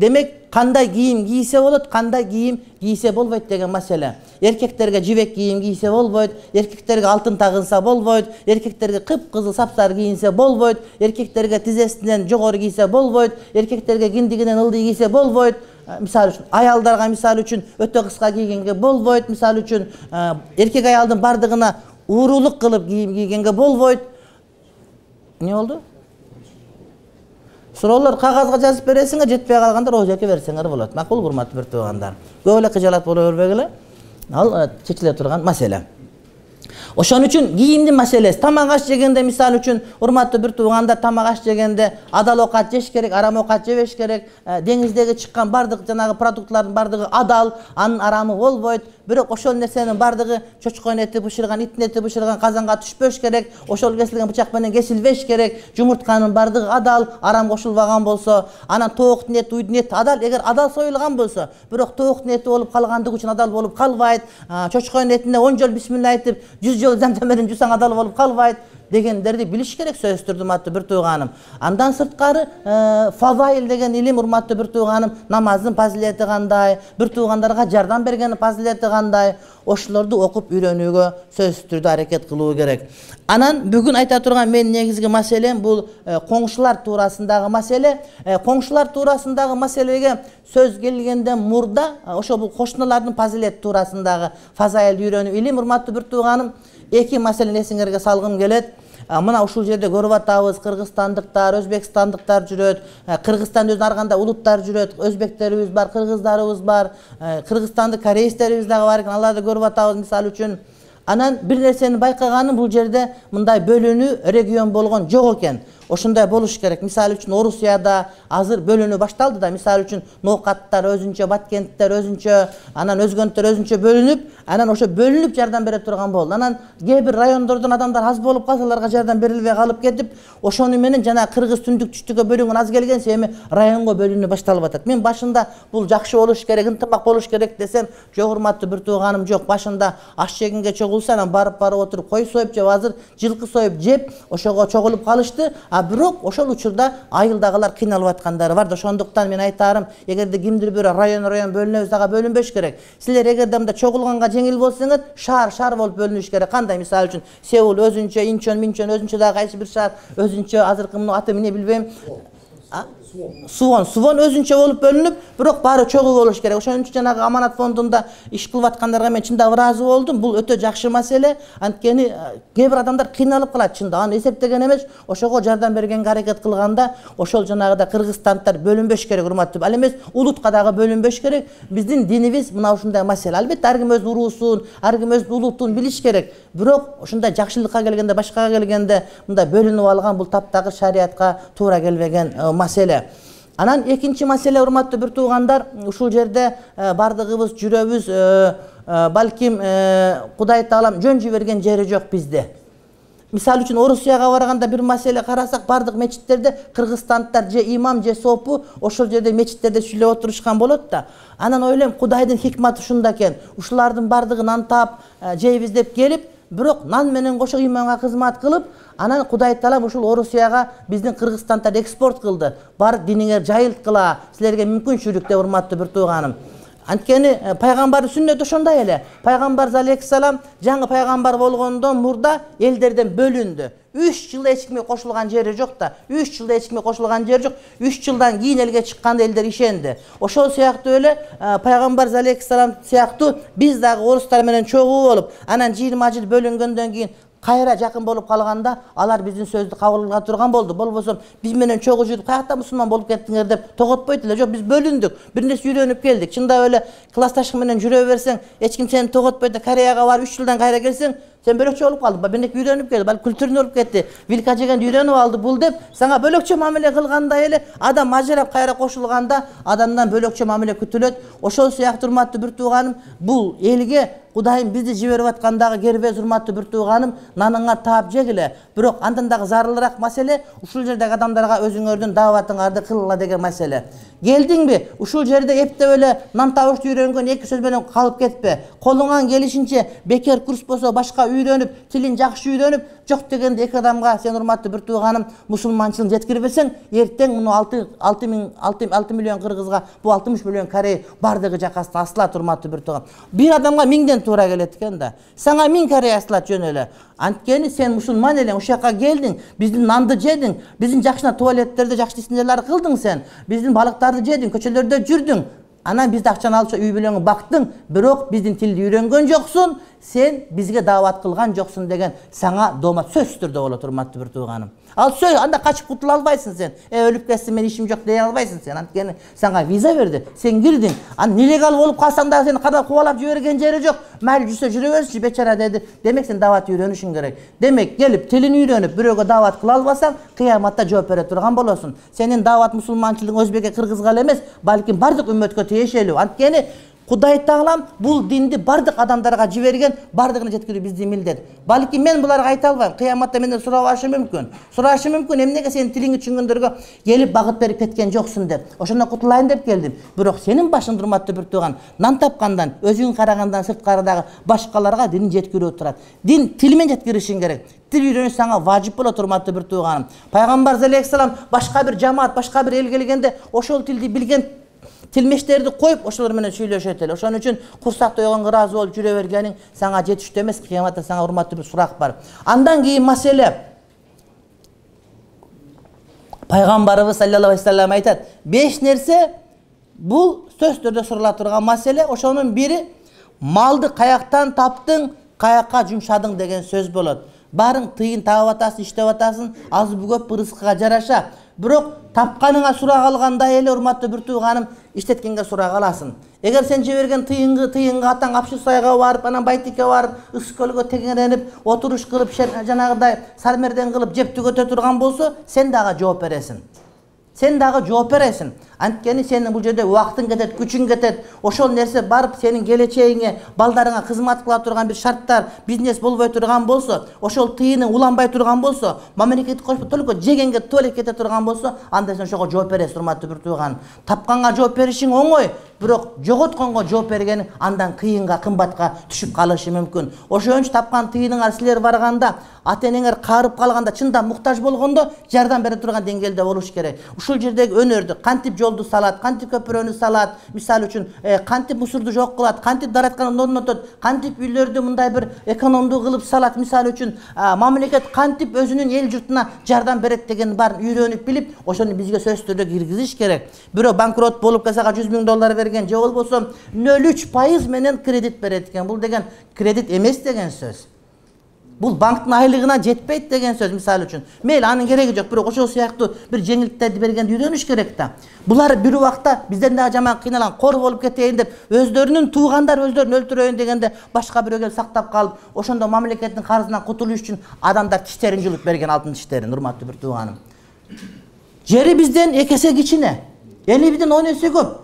Demek kanday giyim giyse bolot, kanday giyim giyse bolboyt degen mesele. Erkeklerge jibek giyim giyse bolboyt, erkeklerge altın tagınsa bolboyt, erkeklerge kıpkızıl sapsarı giyinse bolboyt, erkeklerge tizesinden jogorı giyse bolboyt, erkeklerge kindiginden ıldy giyse bolboyt. Misal üçün ayaldarga misal üçün öte kıska giygenge bolboyt, misal üçün erkek ayaldın bardığına uğuruluk kılıp giyim giygenge bolboyt. Ne oldu? Soralar kagazga жазып бересиңер, жетпей калгандар о жерге берсеңер болот. Макул урматтуу bir tuğanдар. Көп эле кыжалат боло бербегиле. Ал чечиле турган маселе. Ошон үчүн кийимдин маселеси, тамак аш жегенде мисалы үчүн урматтуу бир туугандар, тамак аш жегенде адал оокат жеш керек, арам оокат жебеш керек. Деңиздеги чыккан бардык жанагы продуктлардын бардыгы адал, анын арамы болбойт. Бирок ошол нерсенин бардыгы чочконун эти бышырган, иттин эти бышырган казанга түшпөш керек. Ошол кесилген бычак менен кесилбеш керек. Жумуртканын бардыгы адал, арам кошулбаган болсо, анан тооктун эти, уйдун эти адал. Эгер адал союлган болсо, бирок тооктун эти болуп калгандыгы үчүн адал болуп калбайт. Чочконун этине 10 жол бисмилла айтып, 100 жол замзам менен жусаң адал болуп калбайт дегендерди билиш керек сөзсүз түрдө урматтуу бир тууганым. Андан сырткары фазаил деген илим урматтуу бир тууганым, намаздын фазилети кандай, бир туугандарга жардам бергендин фазилети кандай, ошолорду окуп үйрөнүүгө сөзсүз түрдө аракет кылуу керек. Анан бүгүн айта турган менин негизги маселем бул коңшулар туурасындагы маселе. Коңшулар туурасындагы маселеге сөз келгенден мурда ошо бул кошуналардын фазилети туурасындагы фазаилди үйрөнүү илим урматтуу бир тууганым, эки маселени эсиңерге салгым келет. Мына ушул жерде көрүп атабыз, кыргызстандыктар, өзбекстандыктар жүрөт. Кыргызстан өзүнүн ар кандай улуттар жүрөт. Өзбектерибиз бар, кыргыздарыбыз бар, кыргызстандык кореецтерибиз дагы бар экен. Аларды көрүп атабыз мисалы үчүн. Анан бир нерсени байкаганым, бул жерде мындай бөлүнүү регион болгон жок экен. Ошондой болуш керек. Мисалы үчүн Орусияда азыр бөлүнүү башталды да. Мисалы үчүн Ноокаттар өзүнчө, Баткенттер өзүнчө, анан өзгөнтөр өзүнчө бөлүнүп, анан ошо бөлүнүп жардам бере турган болду. Анан кээ бир райондордон адамдар аз болуп калса, аларга жардам берилбей калып кетип, ошону менен жана кыргыз түндүк түштүккө бөлүнгөн аз келген эми районго бөлүнүү башталып атат. Мен башында бул жакшы болуш керек, ынтымак болуш керек десем, жок урматтуу бир тууганым, жок. Башында аш жегенге чогулса, анан барып отуруп кой союп жеп, азыр жылкы союп жеп, ошого чогулуп калышты. Бирок ошол учурда айылдагылар кыйналып аткандары бар. Ошондуктан мен айтарым, эгерде кимдир бир район бөлүнөбүз, ага бөлүнбөш керек. Силер эгерде мында чогулганга жеңил болсоңор, шаар болуп бөлүнүш керек. Кандай? Мисалы үчүн Сеул өзүнчө, Инчон өзүнчө, дагы кайсы бир шаар өзүнчө, азыркы муну аты эмне билбейм. Сувон өзүнчө болуп бөлүнүп, бирок баары чогуу болуш керек. Ошон үчүн жанагы аманат фондунда иш кылып аткандарга мен чындап ыраазы болдум. Бул өтө жакшы маселе. Анткени кээ бир адамдар кыйналып калат чында. Аны эсептеген эмес, ошого жардам бергенге аракет кылганда, ошол жанагыда кыргызстандтар бөлүнбөш керек урматтуу. Ал эмес улутка дагы бөлүнбөш керек. Биздин динибиз мына ушундай маселе. Албетте ар ким өзүнүн уруусун, ар ким өзүнүн улутун билиш керек. Бирок ушундай жакшылыкка келгенде, башкага келгенде мындай бөлүнүп алган бул таптагы шариятка туура келбеген маселе. Анан экинчи маселе урматтуу бир туугандар, ушул жерде бардыгыбыз жүрөбүз, балким Кудай Таалам жөн жиберген жери жок бизде. Мисалы үчүн Орусияга барганда бир маселе карасак, бардык мечиттерде кыргызстандтар же имам же сопу ошол жерде мечиттерде сүйлөп отурушкан болот да. Анан ойлойм, Кудайдын хикматы ушунда экен. Ушулардын бардыгын нан таап жейбиз деп келип, бирок нан менен кошо иманга кызмат кылып, анан Кудай Таалам ушул Орусияга биздин Кыргызстандарды экспорт кылды. Бар диниңер жайылткыла, силерге мүмкүнчүлүк деп урматтуу бир тууганым. Анткени пайгамбардын сүннөтү ошондой эле. Пайгамбар алейхиссалам жаңы пайгамбар болгондон мурда элдерден бөлүндү. 3 жылда эч кимге кошулган жери жок да. 3 жылда эч кимге кошулган жери жок. 3 жылдан кийин элге чыкканда элдер ишенди. Ошол сыяктуу эле пайгамбар алейхиссалам сыяктуу биз дагы орустар менен чогуу болуп, анан 20 жыл бөлүнгөндөн кийин кайра жакын болуп калганда, алар биздин сөздү кабыл кыла турган болду. Болбосо биз менен чогуу жүрүп, каякта мусулман болуп кеттиңер деп тоготпойт эле. Жок, биз бөлүндүк, бир нерсе үйрөнүп келдик. Чындап эле классташың менен жүрө берсең, эч ким сени тоготпойт. Кореяга барып 3 жылдан кайра келсең, сен бөлөкчө болуп калдың. Бирнеке үйрөнүп келди, балки культурный болуп кетти. Вилка жегенди үйрөнүп алды бул деп, сага бөлөкчө мамиле кылгандай эле адам ажырап кайра кошулганда адамдан бөлөкчө мамиле күтүлөт. Ошол сыяктуу урматтуу бир тууганым, бул элге Кудайым бизди жиберип аткандагы кербез урматтуу бир тууганым, наныңа таап жегиле. Бирок андан дагы зарылыраак маселе ушул жердеги адамдарга өзүңөрдүн дааватыңарды кылгыла деген маселе. Келдиңби? Ушул жерде эптеп эле нан табышты үйрөнгөн эки сөз менен калып кетпе. Колуңан келишинче бекер курс болсо башка үйрөнүп, тилин жакшы үйрөнүп, жок дегенде эки адамга сен урматтуу бир тууганым мусулманчылык жеткирбесең, эртең муну 6 миллион кыргызга, бу 60 миллион корей бардыгы жакасына асылат урматтуу бир тууган. Бир адамга 1000ден туура келет экен да. Сага 1000 корей асылат жөн эле. Анткени сен мусулман элең, ушул жака келдиң, биздин нанды жедиң, биздин жакшына туалеттерде жакшы исинелер кылдың сен, биздин балыктарды жедиң, көчөлөрдө жүрдүң. Анан бизди акчаны алып үй бүлөңү бактың, бирок биздин тилди үйрөнгөн жоксуң, сен бизге даават кылган жоксуң деген сага доомат сөзсүз түрдө болот урматтуу бир тууганым. Ал сөз анда качып кутула албайсың сен. Өлүп кетсем мен ишим жок дей албайсың сен. Анткени сага виза берди. Сен кирдиң. Ан нелегал болуп калсаң да сени када кубалап жиберген жери жок. Майыл жүрсө жүрө берсинчи бечара деди. Демек сен дават үйрөнүшүң керек. Демек келип тилин үйрөнүп бирөөгө дават кыла албасаң, кыяматта жооп бере турган болосуң. Сенин дават мусулманчылыгың өзбекке, кыргызга эле эмес, балким бардык үммөткө тиешелүү. Анткени Кудай Таалам бул динди бардык адамдарга жиберген, бардыгына жеткирүү биздин милдет. Балки мен буларга айта албайм. Кыяматта менден сурашы мүмкүн. Эмнеге сенин тилиңди түшүнгөндөргө келип багыт берип кеткен жоксуң деп. Ошондон кутулайын деп келдим. Бирок сенин башың урматтуу бир тууган, нан тапкандан, өзүң карагандан сырткарыдагы башкаларга дин жеткирүү турат. Дин тил менен жеткиришиң керек. Тил үйрөнүш сага важип болот, урматтуу бир тууганым. Пайгамбар алейхиссалам башка бир жамаат, башка бир эл келгенде ошол тилди билген тилмештерди коюп ошолор менен сүйлөшөт эле. Ошон үчүн курсакта ойгонго ыраазы болуп жүрө бергениң сага жетиштүү эмес. Кыяматта сага урматтуу бир сурак бар. Андан кийин маселе Пайгамбарыбыз саллаллаху алейхи вассалам айтат: 5 нерсе бул сөз түрдө сурала турган маселе. Ошонун бири малды каяктан таптың, каякка жумшадың деген сөз болот. Барың тыйын таап атасың, иштеп атасың, аз бүгөп рызкыга жараша. Бирок тапканыңа сурак алганда эле, урматтуу бир тууганым, иштеткенге сурак аласың. Эгер сен жиберген тыйынга атаң Апшысайга барып, анан Байтикке барып, Ыс көлгө тегеренип, отуруш кылып, жанагыдай сармерден кылып жеп түгөтө турган болсо, сен дагы жооп бересиң. Анткени сенин бул жерде убактың кетет, күчүң кетет. Ошол нерсе барып сенин келечегиңе, балдарыңа кызмат кыла турган бир шарттар, бизнес болбой турган болсо, ошол тыйының уланбай турган болсо, мамлекет кошуп только жегенге туалет кете турган болсо, анда сен ошого жооп бересиң, урматтуу бир тууган. Тапканга жооп беришиң оңой, бирок жоготконго жооп бергениң андан кыйынга, кымбатка түшүп калышы мүмкүн. Ошон үчүн тапкан тыйыныңар силер барганда, ата-энеңер каарып калганда, чында муктаж болгондо жардам бере турган деңгээлде болуш керек. Ушул жердеги өнөрдү кантип жолду салат, кантип көпүрөнү салат, мисалы үчүн кантип мусурду жок кылат, кантип даратканды орнотот, кантип үйлөрдү мындай бир экономдуу кылып салат, мисалы үчүн мамлекет кантип өзүнүн эл журтуна жардам берет деген баарын үйрөнүп билип, ошону бизге сөз түрдө киргизиш керек. Бирөө банкрот болуп калса $100 000 берген, же болбосо 0,3% менен кредит берет экен. Бул деген кредит эмес деген сөз. Бул банктын айлыгына жетпейт деген сөз, мисалы үчүн. Мейли анын кереги жок, бирок ошол сыяктуу бир жеңилдиктерди бергенди үйрөнүш керек да. Булар бир убакта бизден дагы жаман кыйналган, кор болуп кетейин деп, өздөрүнүн туугандары өздөрүн өлтүрөйүн дегенде башка бирөө келип сактап калып, ошондо мамлекеттин карызынан кутулуш үчүн адамдар тиштерин жулуп берген, алтын тиштерин, урматтуу бир тууганым. Жери бизден 2 эсе кичине, эли бизден 10 эсе көп.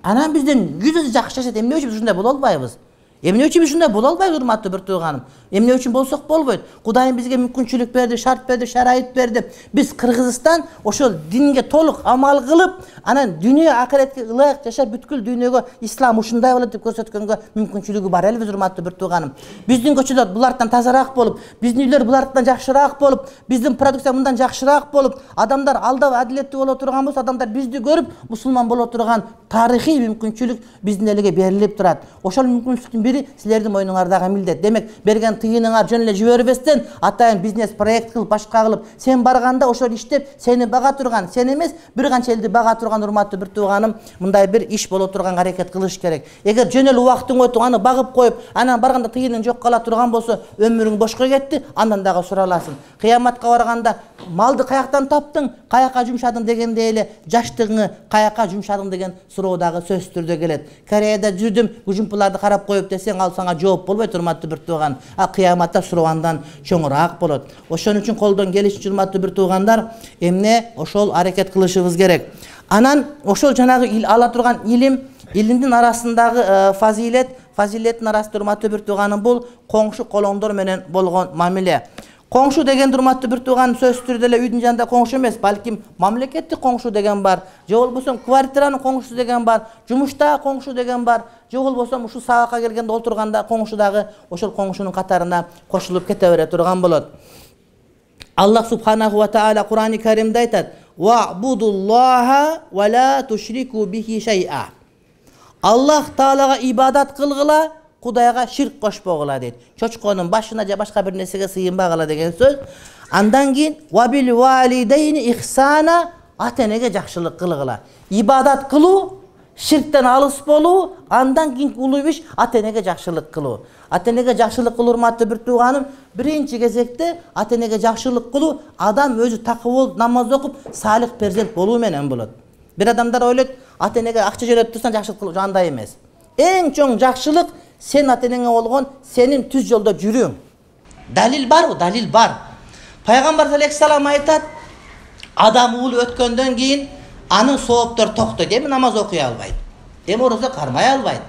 Анан бизден 100 эсе жакшы жашайт. Эмне үчүн ушундай боло албайбыз? Эмне үчүн ушундай боло албайбыз, урматтуу бир тууганым? Эмне үчүн болсок болбойт? Кудайым бизге мүмкүнчүлүк берди, шарт берди, шарайыт берди. Биз Кыргызстан ошол динге толук амал кылып, анан дүйнө акыретке ылайык жашап, бүткүл дүйнөгө ислам ушундай болот деп көрсөткөнгө мүмкүнчүлүгү бар элбиз, урматтуу бир тууганым. Биздин көчөлөр булардан тазараак болуп, биздин үйлөр булардан жакшыраак болуп, биздин продукция мындан жакшыраак болуп, адамдар алдап адилеттүү боло турган болсо, адамдар бизди көрүп мусулман боло турган тарыхый мүмкүнчүлүк биздин элге берилип турат. Ошол мүмкүнчүлүктүн бири силердин мойнуңардагы милдет. Демек, берген тыйыныңар жөн эле жибербестен, атайын бизнес проект кылып, башка кылып, сен барганда ошол иштеп, сени бага турган, сен эмес, бир канча элди бага турган, урматтуу бир тууганым, мындай бир иш боло турган аракет кылыш керек. Эгер жөн эле убактың өтүп, аны багып коюп, анан барганда тыйының жок кала турган болсо, өмүрүң бошко кетти, андан дагы сураласың. Кыяматка барганда малды каяктан таптың, каякка жумшадың дегенде эле жаштыгыңы каякка жумшадың деген суроо дагы сөз түрдө келет. Кореяда жүрдүм, жумпуларды карап коюп десең, ал сага жооп болбойт, урматтуу бир тууган. А кыяматта суроо андан чоңураак болот. Ошон үчүн колдон келишинче, урматтуу бир туугандар, эмне ошол аракет кылышыбыз керек. Анан ошол жанагы ала турган илимдин арасындагы фазилеттин арасында, урматтуу бир тууганым, бул коңшу колоңдор менен болгон мамиле. Коңшу деген, урматтуу бир тууган, сөз түрдө эле үйдүн жанында коңшу эмес, балким мамлекеттик коңшу деген бар, же болбосо квартиранын коңшусу деген бар, жумуштагы коңшу деген бар, же болбосо ушу сабакка келгенде олтурганда коңшу дагы ошол коңшунун катарына кошулуп кете бере турган болот. Аллах субханаху ва таала Кур'ани Каримде айтат: "Ва'будуллаха ва ла тушрику бихи шай'a". Аллах таалага ибадат кылгыла, Кудайга ширк кошпогула дейт. Чочконун башына же башка бир нерсеге сыйынбагыла деген сөз. Андан кийин ва бил валидейни ихсана, ата-энеге жакшылык кылгыла. Ибадат кылуу, ширктен алыс болуу, андан кийинки улуу иш ата энеге жакшылык кылуу. Ата энеге жакшылык кылуу, урматтуу бир тууганым, биринчи кезекте ата энеге жакшылык кылуу адам өзү такы болуп, намаз окуп, салих перзент болуу менен болот. Бир адамдар ойлойт, ата энеге акча жөнөтүп турсаң жакшылык кылуу, андай эмес. Эң чоң жакшылык сен ата энеңе болгон сенин түз жолдо жүрүүң. Далил барбы? Далил бар. Пайгамбар алейхиссалам айтат, адам уулу өткөндөн кийин анын сооптор токтойт. Эми намаз окуй албайт. Эми орозо кармай албайт.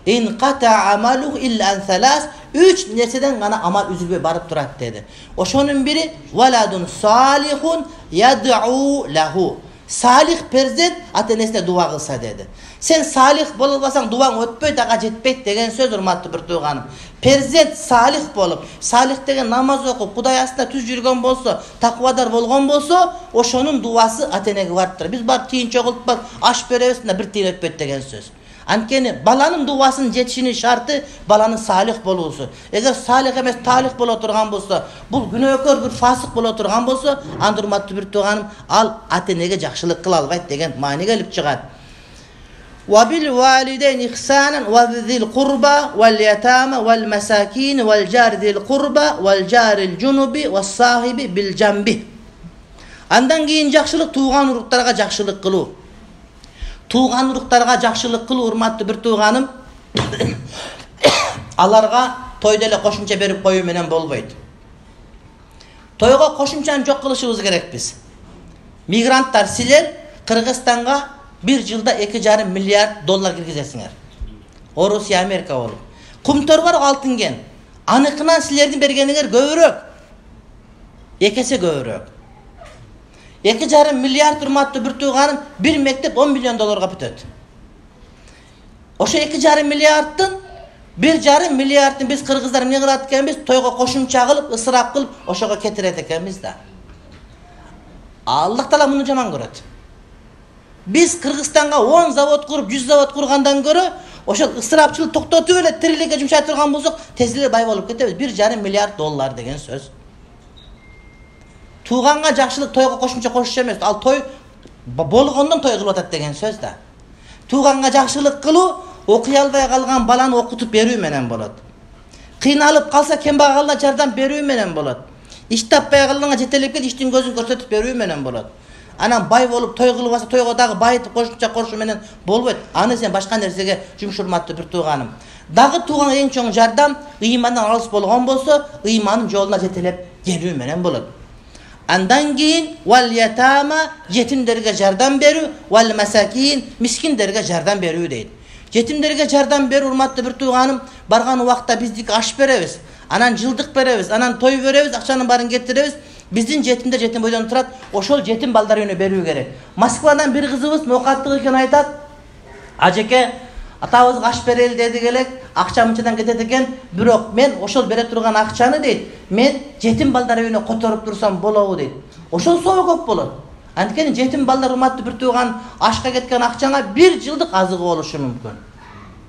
Ин ката амалу илля ан салас, 3 нерседен гана амал үзүлбөй барып турат деди. Ошонун бири валадун салихун яд'у лаху. Салих перзент ата энесине дуа кылса деди. Сен салих боло албасаң дуаң өтпөйт, ага жетпейт деген сөз, урматтуу бир тууганым. Перзент салих болуп, салих деген намаз окуп, Кудай астында түз жүргөн болсо, таквадар болгон болсо, ошонун дуасы ата энеге барып турат. Биз барып тийин чогултпак, аш беребиз, бир тийин өтпөйт деген сөз. Анткени баланын дуасынын жетишинин шарты баланын салих болуусу. Эгер салих эмес талих боло турган болсо, бул күнөөкөр бир фасык боло турган болсо, анда урматтуу бир тууганым, ал ата энеге жакшылык кыла албайт деген маани келип чыгат. وبالوالدين إحسانا وذي القربى واليتامى والمساكين والجار ذي القربى والجار الجنب والصاحب بالجنب. Андан кийин жакшылык тууган уруктарга жакшылык кылуу. Тууган уруктарга жакшылык кылуу, урматтуу бир тууганым, аларга тойдо эле кошумча берип коюу менен болбойт. Тойго кошумчаны жок кылышыбыз керек биз. Мигранттар, силер Кыргызстанга bir жылда 2,5 миллиард доллар киргизесиңер. Орусия, Америка болуп. Кумтор бар алтын кен. Аныкынан силердин бергениңер көбүрөөк. Экесе көбүрөөк. 2,5 миллиард урматтуу бир тууганым, bir мектеп 10 миллион долларга бүтөт. Ошо 2,5 миллиардтын 1,5 миллиардын биз кыргыздар эмне кылат экенбиз? Тойго кошумча кылып, ысырап кылып, ошого кетирет экенбиз да. Аллах Таала муну жаман көрөт. Biz Kırgızstan'a 10 zavod kurup 100 zavod kurgandan göre ошол ысырапчылык токтотуп эле тириликке жумшай турган болсок, тез эле бай болуп кетебиз. 1,5 миллиард доллар деген сөз. Тууганга жакшылык тойго кошумча кошуш эмес, ал той болгондон той кылып атат деген сөз да. Тууганга жакшылык кылуу окуй албай калган баланы окутуп берүү менен болот. Кыйналып калса кембагалга жардам берүү менен болот. Иш таппай калганга жетелеп кел иштин көзүн көрсөтүп берүү менен болот. Анан бай болуп той кылып алса тойго дагы байытып кошумча кошуу менен болбойт. Аны сен башка нерсеге жумуш, урматтуу бир тууганым. Дагы тууган эң чоң жардам ыймандан алыс болгон болсо, ыймандын жолуна жетелеп келүү менен болот. Андан кийин вал ятама, жетимдерге жардам берүү, вал масакин, мискиндерге жардам берүү дейт. Жетимдерге жардам берүү, урматтуу бир тууганым, барган убакта биздик аш беребиз, анан жылдык беребиз, анан той беребиз, акчанын баарын кетиребиз. Биздин жетимдер жетим бойдон турат, ошол жетим балдар үйүнө берүү керек. Москвадан бир кызыбыз ноокаттык экен айтат. Ажеке, атабызга аш берели деди элек, акча мынчадан кетет экен, бирок мен ошол бере турган акчаны дейт, мен жетим балдар үйүнө которуп турсам болобу дейт. Ошол соо көп болот. Анткени жетим балдар, урматтуу бир тууган, ашка кеткен акчаңа 1 жылдык азыгы болушу мүмкүн.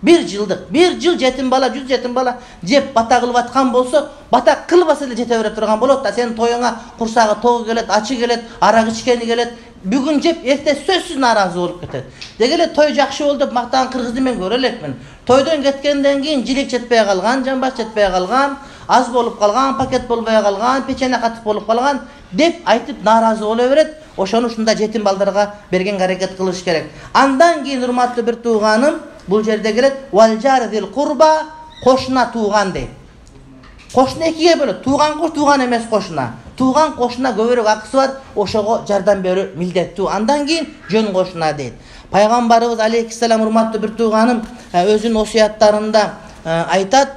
1 жылдык, 1 жыл жетим бала, 100 жетим бала жеп бата кылып аткан болсо, бата кылбаса эле жете бере турган болот да. Сен тоюңа курсагы тогу келет, ачы келет, арак ичкени келет. Бүгүн жеп, эрте сөзсүз нааразы болуп кетет. Деги эле той жакшы болду деп мактаган кыргызды мен көрө элекмин. Тойдон кеткенден кийин жилек жетпей калган, жамбаш жетпей калган, аз болуп калган, пакет болбой калган, печене катып болуп калган деп айтып нааразы боло берет. Ошону ушундай жетим балдарга берген аракет кылыш керек. Андан кийин, урматтуу бир тууганым, бул жерде келет валжар зил курба, кошуна тууган дейт. Кошуна экиге бөлөт. Тууган кош, тууган эмес кошуна. Тууган кошуна көбүрөөк акысы бар, ошого жардам берүү милдеттүү. Андан кийин жөн кошуна дейт. Пайгамбарыбыз алейхиссалам, урматтуу бир тууганым, өзүнүн осуяттарында айтат.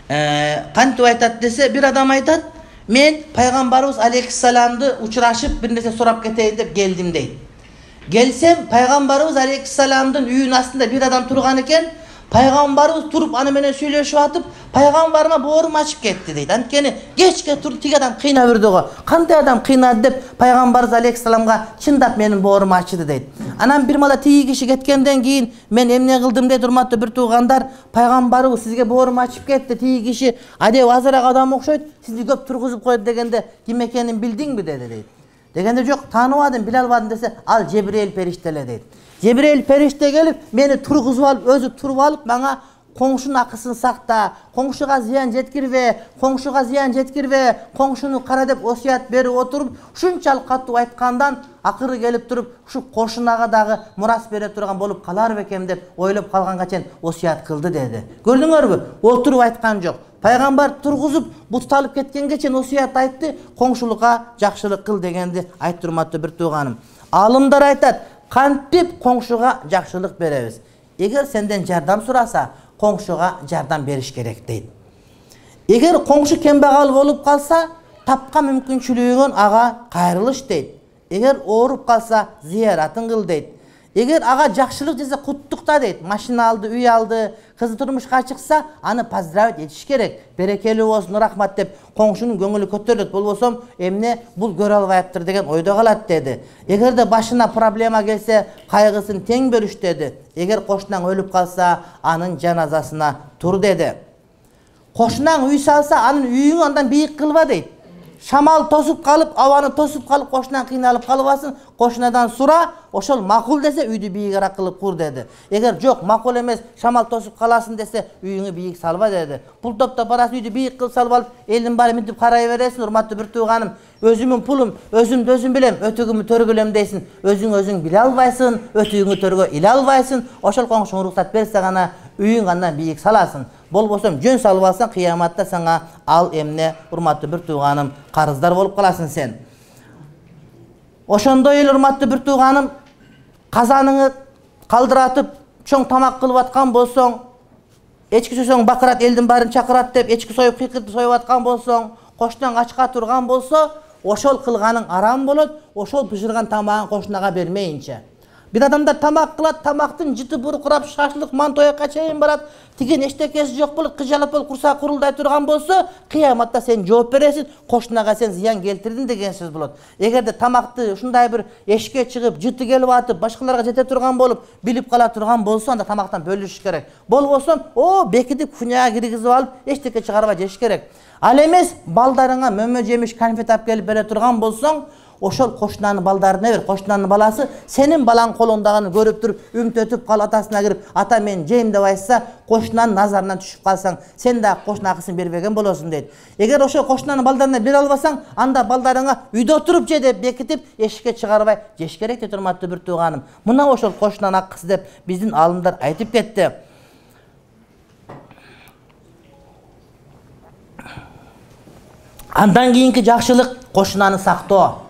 Кантип айтат десе, бир адам айтат, мен пайгамбарыбыз алейхиссаламды учурашып бир нерсе сурап кетейин деп келдим дейт. Келсем, пайгамбарыбыз алейхиссаламдын үйүнүн астында бир адам турган экен. Пайгамбарыбыз туруп аны менен сүйлөшүп атып, пайгамбарыма боорум ачып кетти дейт. Анткени кечке туруп тиги адам кыйнап үрдү го. Кандай адам кыйнады деп пайгамбарыбыз алейхиссаламга чындап менин боорум ачыды дейт. Анан бир мала тиги киши кеткенден кийин мен эмне кылдым дейт, урматтуу бир туугандар, пайгамбарыбыз сизге боорум ачып кетти, тиги киши адеп азыраак адам окшойт, сизди көп тургузуп койду дегенде ким экенин билдиңби деди дейт. Дегенде жок, тааныбадым, биле албадым десе, ал Жебирейил периште эле дейт. Жебирейил периште келип, мени тургузуп алып, өзү туруп алып, мага коңшунун акысын сакта, коңшуга зыян жеткирбе, коңшуну кара деп осуят берип отуруп, ушунчалык катуу айткандан акыры келип туруп, ушу кошунага дагы мурас бере турган болуп калар бекем деп ойлоп калганга чейин осуят кылды деди. Көрдүңөрбү? Отуруп айткан жок. Пайгамбар тургузуп, бутталып кеткенге чейин осуят айтты, коңшулукка жакшылык кыл дегенди айтты, урматтуу бир тууганым. Алымдар айтат, кантип коңшуга жакшылык беребиз? Эгер сенден жардам сураса, коңшуга жардам бериш керек дейт. Эгер коңшу кембагал болуп калса, тапкан мүмкүнчүлүгүн ага кайрылыш дейт. Эгер ооруп калса, зыяратын кыл дейт. Эгер ага жакшылык жесе, куттукта дейт. Машина алды, үй алды, кызы турмушка чыкса, аны поздравить этиш керек. Берекелүү болсун, рахмат деп коңшунун көңүлү көтөрүлөт. Болбосом, эмне бул көрө албайыптыр деген ойдо калат деди. Эгерде башына проблема келсе, кайгысын тең бөлүш деди. Эгер кошунаң өлүп калса, анын жаназасына тур деди. Кошунаң үй салса, анын үйүңү андан бийик кылба дейт. Шамал тосуп калып, абаны тосуп калып, кошунан кыйналып калбасын, кошунадан сура, ошол макул десе, үйдү бийигирээк кылып кур деди. Эгер жок, макул эмес, шамал тосуп каласың десе, үйүңү бийик салба деди. Пул топтоп барасың, үйдү бийик кылып салып алып, элдин баары мынтип карай бересиң, урматтуу бир тууганым. Өзүмүн пулум, өзүмдү өзүм билем, өтүгүмү төргүлөм дейсиң. Өзүң биле албайсың, өтүгүңү төргө иле албайсың. Ошол коңшуң уруксат берсе гана үйүң андан бийик саласың. Болбосом жөн салып алсаң, кыяматта сага ал эмне, урматтуу бир тууганым, карыздар болуп каласың сен. Ошондой эле, урматтуу бир тууганым, казаныңы калдыратып, чоң тамак кылып аткан болсоң, эчки сойсоң бакырат, элдин баарын чакырат деп, эчки союп, кыйкыртып союп аткан болсоң, кошунан ачка турган болсо, ошол кылганың арам болот, ошол бышырган тамагын кошунага бермейинче. Бир адамдар тамак кылат, тамактын жыты буркурап, шашлык, мантоякка чейин барат, тиген эчтекеси жок болот, кыжалып болуп курсак курулдай турган болсо, кыяматта сен жооп бересиң, кошунага сен зыян келтирдиң деген сөз болот. Эгерде тамакты ушундай бир эшикке чыгып, жыты келип атып, башкаларга жете турган болуп, билип кала турган болсо, анда тамактан бөлүш керек. Болбосо, бекитип кухняга киргизип алып, эчтеке чыгарбай жеш керек. Ал эмес, балдарыңа мөмө жемиш, конфет алып келип бере турган болсоң, ошол кошунанын балдарына бер. Кошунанын баласы сенин балаң колундагын көрүп туруп, үмтөтүп калып атасына кирип, ата мен жейм деп айтса, кошунанын назарынан түшүп калсаң, сен да кошуна акысын бербеген болосуң дейт. Эгер ошол кошунанын балдарына бере албасаң, анда балдарыңа үйдө отуруп же деп бекитип, эшикке чыгарбай жеш керек дейт, урматтуу бир тууганым. Мына ошол кошунанын акысы деп биздин алымдар айтып кетти. Андан кийинки жакшылык кошунаны сактоо.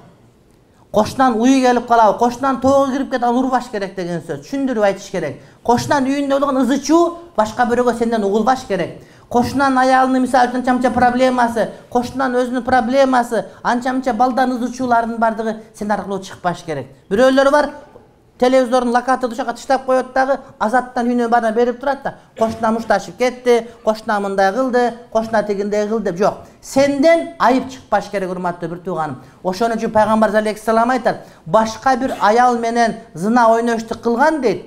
Кошунан уй келип калабы, кошунан тоого кирип кетип урбаш керек деген сөз. Түшүндүрүп айтыш керек. Кошунан үйүндө болгон ызы чуу башка бирөөгө сенден угулбаш керек. Кошунан аялынын мисалы үчүн анча-мынча проблемасы, кошунан өзүнүн проблемасы, анча-мынча балдардын ызы чууларынын бардыгы сен аркылуу чыкпаш керек. Бирөөлөр бар, телевизордун локаторду ошока таштап коет дагы, азаттан үйүнө баарына берип турат да, кошуна мушташып кетти, кошуна мындай кылды, кошуна тигиндей кылды деп жок. Сенден айып чыкпаш керек, урматтуу бир тууганым. Ошон үчүн пайгамбар алейхиссалам айтат, башка бир аял менен зына ойноштук кылган дейт.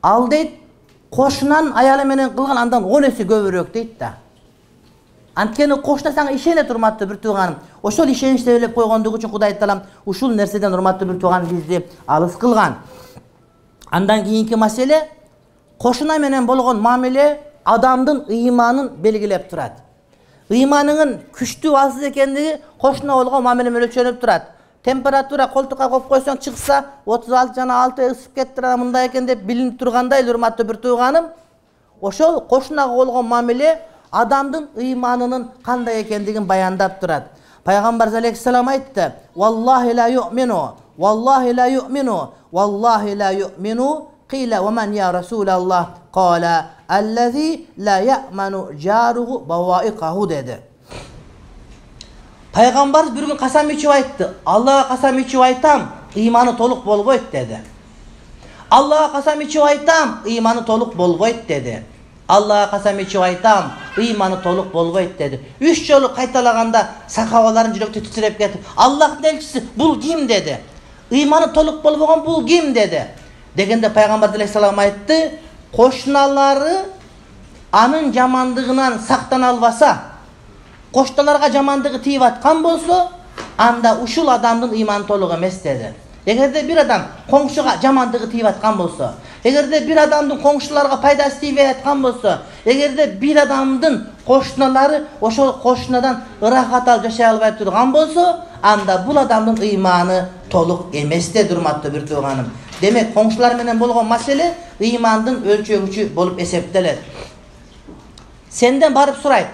Ал дейт, кошунан аялы менен кылган андан 10 эсе көбүрөөк дейт да. Анткени кошуна сага ишенет, урматтуу бир тууганым. Ошол ишеничти белеп койгондугу үчүн Кудай Таалам ушул нерседен, урматтуу бир тууганым, бизди алыс кылган. Андан кийинки маселе, кошуна менен болгон мамиле адамдын ыйманын белгилеп турат. Ыйманыңын күчтүү алсыз экендиги кошуна болгон мамиле менен өлчөнүп турат. Температура колтукка коюп койсоң чыкса 36 жана 6 ысып кетти, мындай экен деп билинип тургандай, урматтуу бир тууганым, ошол кошунага болгон мамиле адамдын ыйманынын кандай экендигин баяндап турат. Пайгамбар алейхиссалам айтты: "Валлахи ла ю'мину, валлахи ла ю'мину, валлахи ла ю'мину, кила ва ман я расулаллах, кала аллази ла я'ману жаруху баваикаху" деди. Пайгамбар бир күн касам ичип айтты: "Аллага касам ичип айтам, ыйманы толук болбойт" деди. "Аллага касам ичип айтам, ыйманы толук болбойт" деди. "Аллага касам ичип айтам, ыйманы толук болбойт" деди. 3 жолу кайталаганда сахабалардын жүрөктөрү титиреп кетип, "Аллахтын элчиси, бул ким?" деди. "Ыйманы толук болбогон бул ким?" деди. Дегенде пайгамбар алейхиссалам айтты: "Кошуналары анын жамандыгынан сактана албаса, кошуналарга жамандыгы тийип аткан болсо, анда ушул адамдын ыйманы толук эмес деди. Эгерде бир адам коңшуга жамандыгы тийип аткан болсо, эгерде бир адамдын коңшуларга пайдасы тийбей аткан болсо, эгерде бир адамдын кошуналары ошол кошунадан ырахат алып жашай албай турган болсо, анда бул адамдын ыйманы толук эмес деди, урматтуу бир тууганым. Демек, коңшулар менен болгон маселе ыймандын өлчөгүчү болуп эсептелет. Сенден барып сурайт: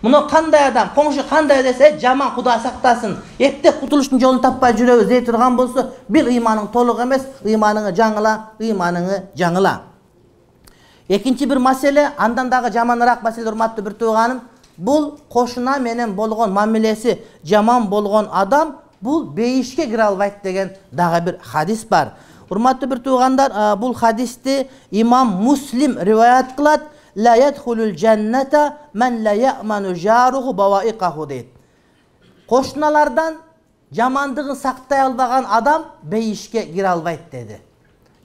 "Муну кандай адам, коңшу кандай?" десе, "Жаман, Кудай сактасын. Эптеп кутулуштун жолун таппай жүрөбүз" дей турган болсо, бир ыйманың толук эмес, ыйманыңы жаңыла. Экинчи бир маселе, андан дагы жаманыраак маселе, урматтуу бир тууганым, бул кошуна менен болгон мамилеси жаман болгон адам бул бейишке кире албайт деген дагы бир хадис бар. Урматтуу бир туугандар, бул хадисти имам Муслим риваят кылат. "Ла ядхулул джанната ман ла яъману жаруху баваиқаху" дейт. Кошуналардан жамандыгын сактай албаган адам бейишке кире албайт деди.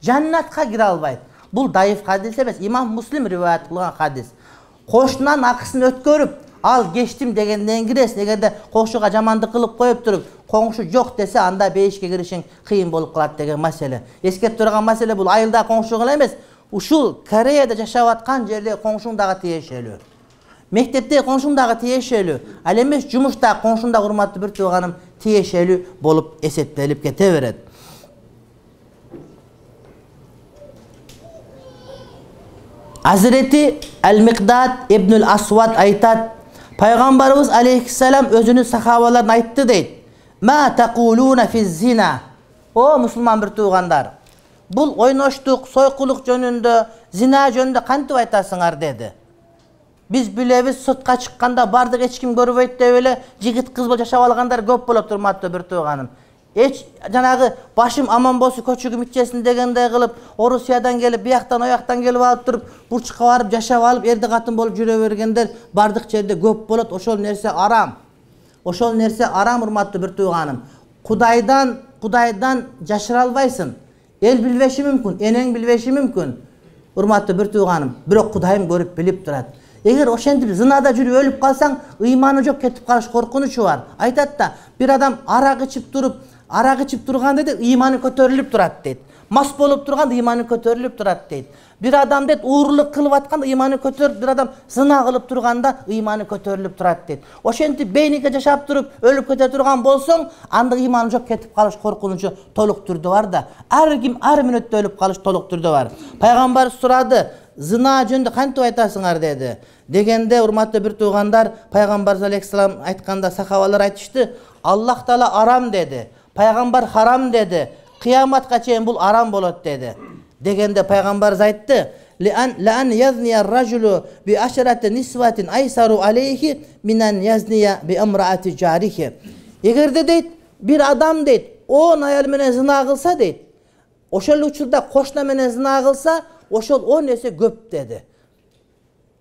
Жаннатка кире албайт. Бул дайыф хадис эмес, имам Муслим риваят кылган хадис. Кошунан акысын өткөрүп, "Ал кечтим" дегенден киресиң. Эгерде коңшуга жамандык кылып коюп туруп, коңшу жок десе, анда бейишке киришиң кыйын болуп калат деген маселе. Эскертип турган маселе бул айылда коңшу гана эмес, ушул Кореяда жашап аткан жерде коңшуң дагы тиешелүү. Мектепте коңшуң дагы тиешелүү. Ал эмес жумушта коңшуң дагы, урматтуу бир тууганым, тиешелүү болуп эсептелип кете берет. Азирети Ал-Миқдад ибн Асвад айтат: "Пайгамбарыбыз алейхиссалам өзүнүн сахабаларына айтты" дейт: "Ма тaquluna fiz-zina?" О мусулман бир туугандар, бул ойноштук, сойкулук жөнүндө, зина жөнүндө кантип айтасыңар деди. Биз билебиз, сотка чыкканда бардык эч ким көрбөйт деп эле жигит кыз болуп жашап алгандар көп болот, урматтуу бир тууганым. Эч жанагы башым аман болсун көчөгүм ичесин дегендей кылып, Орусиядан келип, бияктан ояктан келип алып туруп, бурчукка барып жашап алып, эрди катын болуп жүрө бергендер бардык жерде көп болот. Ошол нерсе арам. Ошол нерсе арам, урматтуу бир тууганым. Кудайдан жашыра албайсың. Эл билбеши мүмкүн, энең билбеши мүмкүн. Урматтуу бир тууганым, бирок Кудайым көрүп билип турат. Эгер ошентип зынада жүрүп өлүп калсаң, ыйманы жок, кетип калыш коркунучу бар. Айтат да, бир адам арак ичип турганда дейт, ыйманы көтөрүлүп турат дейт. Мас болуп турганда ыйманы көтөрүлүп турат дейт. Бир адам дейт, уурулук кылып атканда ыйманы көтөрүп, бир адам зына кылып турганда ыйманы көтөрүлүп турат дейт. Ошентип бейникке жашап туруп өлүп кете турган болсоң, анда ыйманы жок, кетип калыш коркунучу толук түрдө бар да. Ар ким ар мүнөттө өлүп калыш толук түрдө бар. Пайгамбар сурады: "Зына жөнүндө кантип айтасыңар?" деди. Дегенде, урматтуу бир туугандар, Пайгамбар алейхиссалам айтканда сахабалар айтышты: "Аллах Таала арам деди, Пайгамбар харам деди, кыяматка чейин бул арам болот" деди. Дегенде Пайгамбар айтты: "Лан язния ар-раджулу би ашарати нисватин айсару алейхи минан язния би амраати жарихи." Эгерде дейт, бир адам дейт, 10 аял менен зына кылса дейт, ошол учурда кошуна менен зына кылса, ошол 10 эсе көп деди.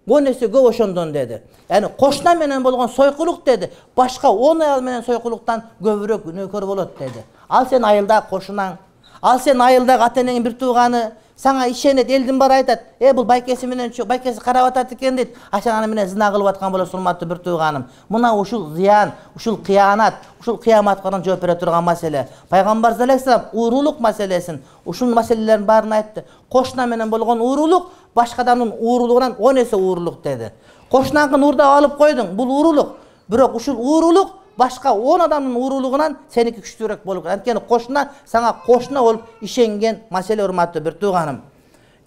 10 эсе көп ошондон деди. Яны кошуна менен болгон сойкулук деди, башка 10 аял менен сойкулуктан көбүрөөк күнөөкөр болот деди. Ал сен айылда кошунаң, ал сен айылдагы ата-энеңин бир тууганы, сага ишенет, элдин баары айтат: "Бул байкеси менен байкеси карап атат экен" дейт. Сен аны менен зына кылып аткан болосуң, урматтуу бир тууганым. Мына ушул зыян, ушул кыянат, ушул кыяматка жооп бере турган маселе. Пайгамбар алейхиссалам уурулук маселесин, ушул маселелердин баарын айтты. Кошуна менен болгон уурулук башка адамдын уурулугунан 10 эсе уурулук деди. Кошунанкын уурдап алып койдуң, бул уурулук. Бирок ушул уурулук башка 10 адамдын уурулугунан сеники күчтүүрөөк болуп калат. Анткени кошуна сага кошуна болуп ишенген маселе, урматтуу бир тууганым.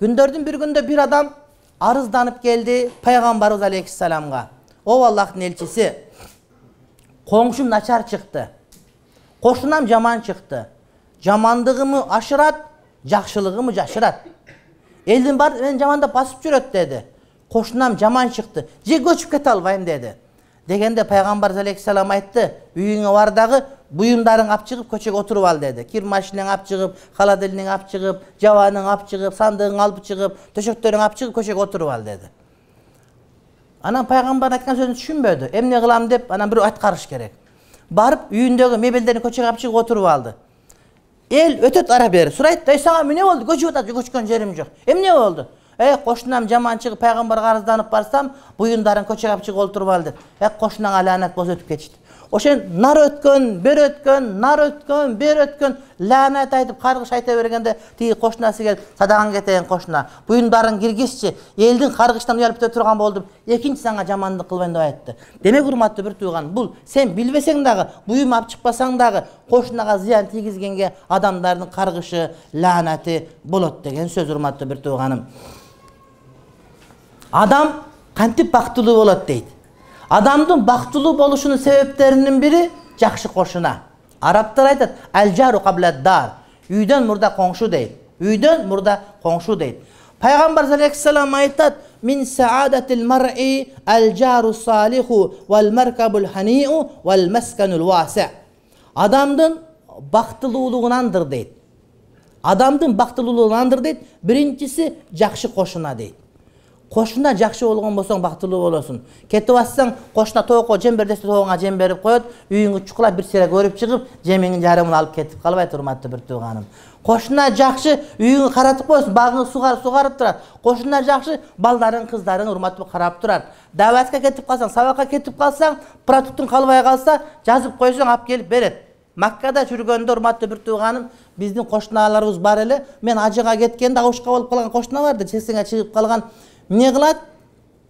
Күндөрдүн бир күндө бир адам арызданып келди Пайгамбарыбыз алейхиссаламга: "О Аллахтын элчиси, коңшум начар чыкты. Кошунам жаман чыкты. Жамандыгымы ашырат, жакшылыгымы жашырат. Элдин баары мени жамандап басып жүрөт" деди. "Кошунам жаман чыкты. Же көчүп кете албайм" деди. Дегенде Пайгамбар алейхиссалам айтты: "Үйүңө бар дагы буюмдарың алып чыгып көчөгө отуруп ал" деди. Кир машинең алып чыгып, холодильник алып чыгып, жабаның алып чыгып, сандыгың алып чыгып, төшөктөрүң алып чыгып көчөгө отуруп ал деди. Анан Пайгамбар айткан сөзүн түшүнбөдү. Эмне кылам деп, анан бирөө аткарыш керек. Барып үйүндөгү мебелдерин көчөгө алып чыгып отуруп алды. Эл өтөт ара бери. Сурайт: "Ай, сага эмне болду? Көчүп атат, көчкөн жерим жок. Эмне болду?" Кошунам жаман чыгып, Пайгамбарга арызданып барсам, буюндарың көчөгө алып чыгып отуруп ал деп. Кошунаңа лаанат болсо өтүп кетишти. Ошен нар өткөн, бер өткөн, нар өткөн, бер өткөн, лаанат айтып, каргыш айта бергенде тиги кошунасы келип, садаган кетейин кошуна. Буюндарын киргизчи, элдин каргыштан уялып кете турган болдум. Экинчи сага жамандык кылбайын деп айтты. Демек урматтуу бир тууган, бул сен билбесең дагы, буюм алып чыкпасаң дагы кошунага зыян тийгизгенге адамдардын каргышы, лаанаты болот деген сөз урматтуу бир тууганым. Адам кантип бактылуу болот дейт. Адамдын бактылуу болушунун себептеринин бири жакшы кошуна. Арабтар айтат: "Ал-жару каблад-дар." Үйдөн мурда коңшу дейт. Үйдөн мурда коңшу дейт. Пайгамбар саллаллаху айтат: "Мин саадатил мар'i ал-жару салиху вал маркабул хани'у вал масканул васи'." Адамдын бактылуулугунандыр дейт. Адамдын бактылуулугунандыр дейт. Биринчиси жакшы кошуна дейт. Кошуна жакшы болгон болсоң бактылуу болосуң. Кетип атсаң, кошуна тоокко жем бер десе тоогуңа жем берип коет, үйүңгө чукулап бир сере көрүп чыгып, жемиңдин жарымын алып кетип калбайт урматтуу бир тууганым. Кошуна жакшы үйүңгө каратып коесуң, багыңды сугарып турат. Кошуна жакшы балдарың, кыздарың урматтуу карап турат. Даватка кетип калсаң, сабакка кетип калсаң, продуктун калбай калса, жазып койсоң алып келип берет. Маккада жүргөндө урматтуу бир тууганым, биздин кошуналарыбыз бар эле. Мен ажыга кеткенде аушка болуп калган кошуна барды, чексеңе чыгып калган. Не кылат?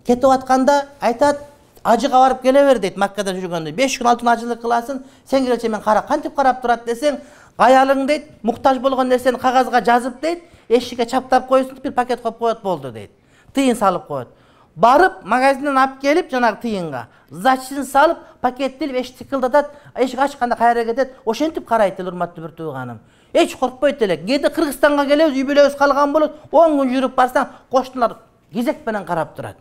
Кетип атканда айтат, ажыга барып келе бер дейт. Маккада жүргөндө 5 күн 6 күн ажылык кыласың, сен келече мен кантип карап турат десең, аялың дейт, муктаж болгон нерсени кагазга жазып дейт, эшикке чаптап коюсуң, бир пакет коюп коет болду дейт. Тыйын салып коет. Барып магазинден алып келип, жанагы тыйынга зачын салып, пакеттелип эшикти тыкылдатат, эшик ачканда кайра кетет, ошентип карайт эле урматтуу бир тууганым. Эч коркпойт эле. Кээде Кыргызстанга келебиз, үй бүлөбүз калган болот, 10 күн жүрүп барсаң, кошуналар кезек менен карап турат.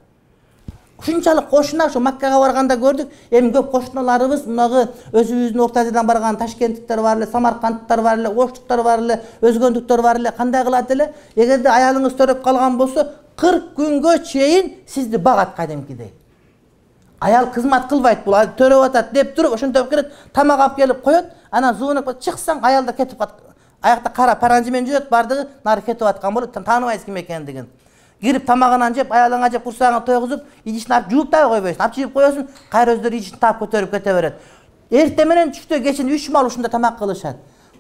Ушунчалык кошуна ушу Маккага барганда көрдүк. Эми көп кошуналарыбыз мынагы өзүбүздүн Орто Азиядан барган ташкенттиктер бар эле, самаркандтар бар эле, оштуктар бар эле, өзгөндүктөр бар эле. Кандай кылат эле? Эгерде аялыңыз төрөп калган болсо, 40 күнгө чейин сизди багат кадимкидей. Аял кызмат кылбайт, бул төрөп атат деп туруп, ошентип келет, тамак алып келип коет, анан зуунуп чыксаң, аялда кетип калат. Аякта кара паранжы менен жүрөт, бардыгы нары кетип аткан болот, тааныбайсыз ким экендигин. Кирип тамагынан жеп, аялыңа жеп, курсагын тойгузуп, идишин алып жууп да койбойсуң. Алып жеп коесуң, кайра өздөрү идишин таап көтөрүп кете берет. Эрте менен түштө кечин 3 мал ушунда тамак кылышат.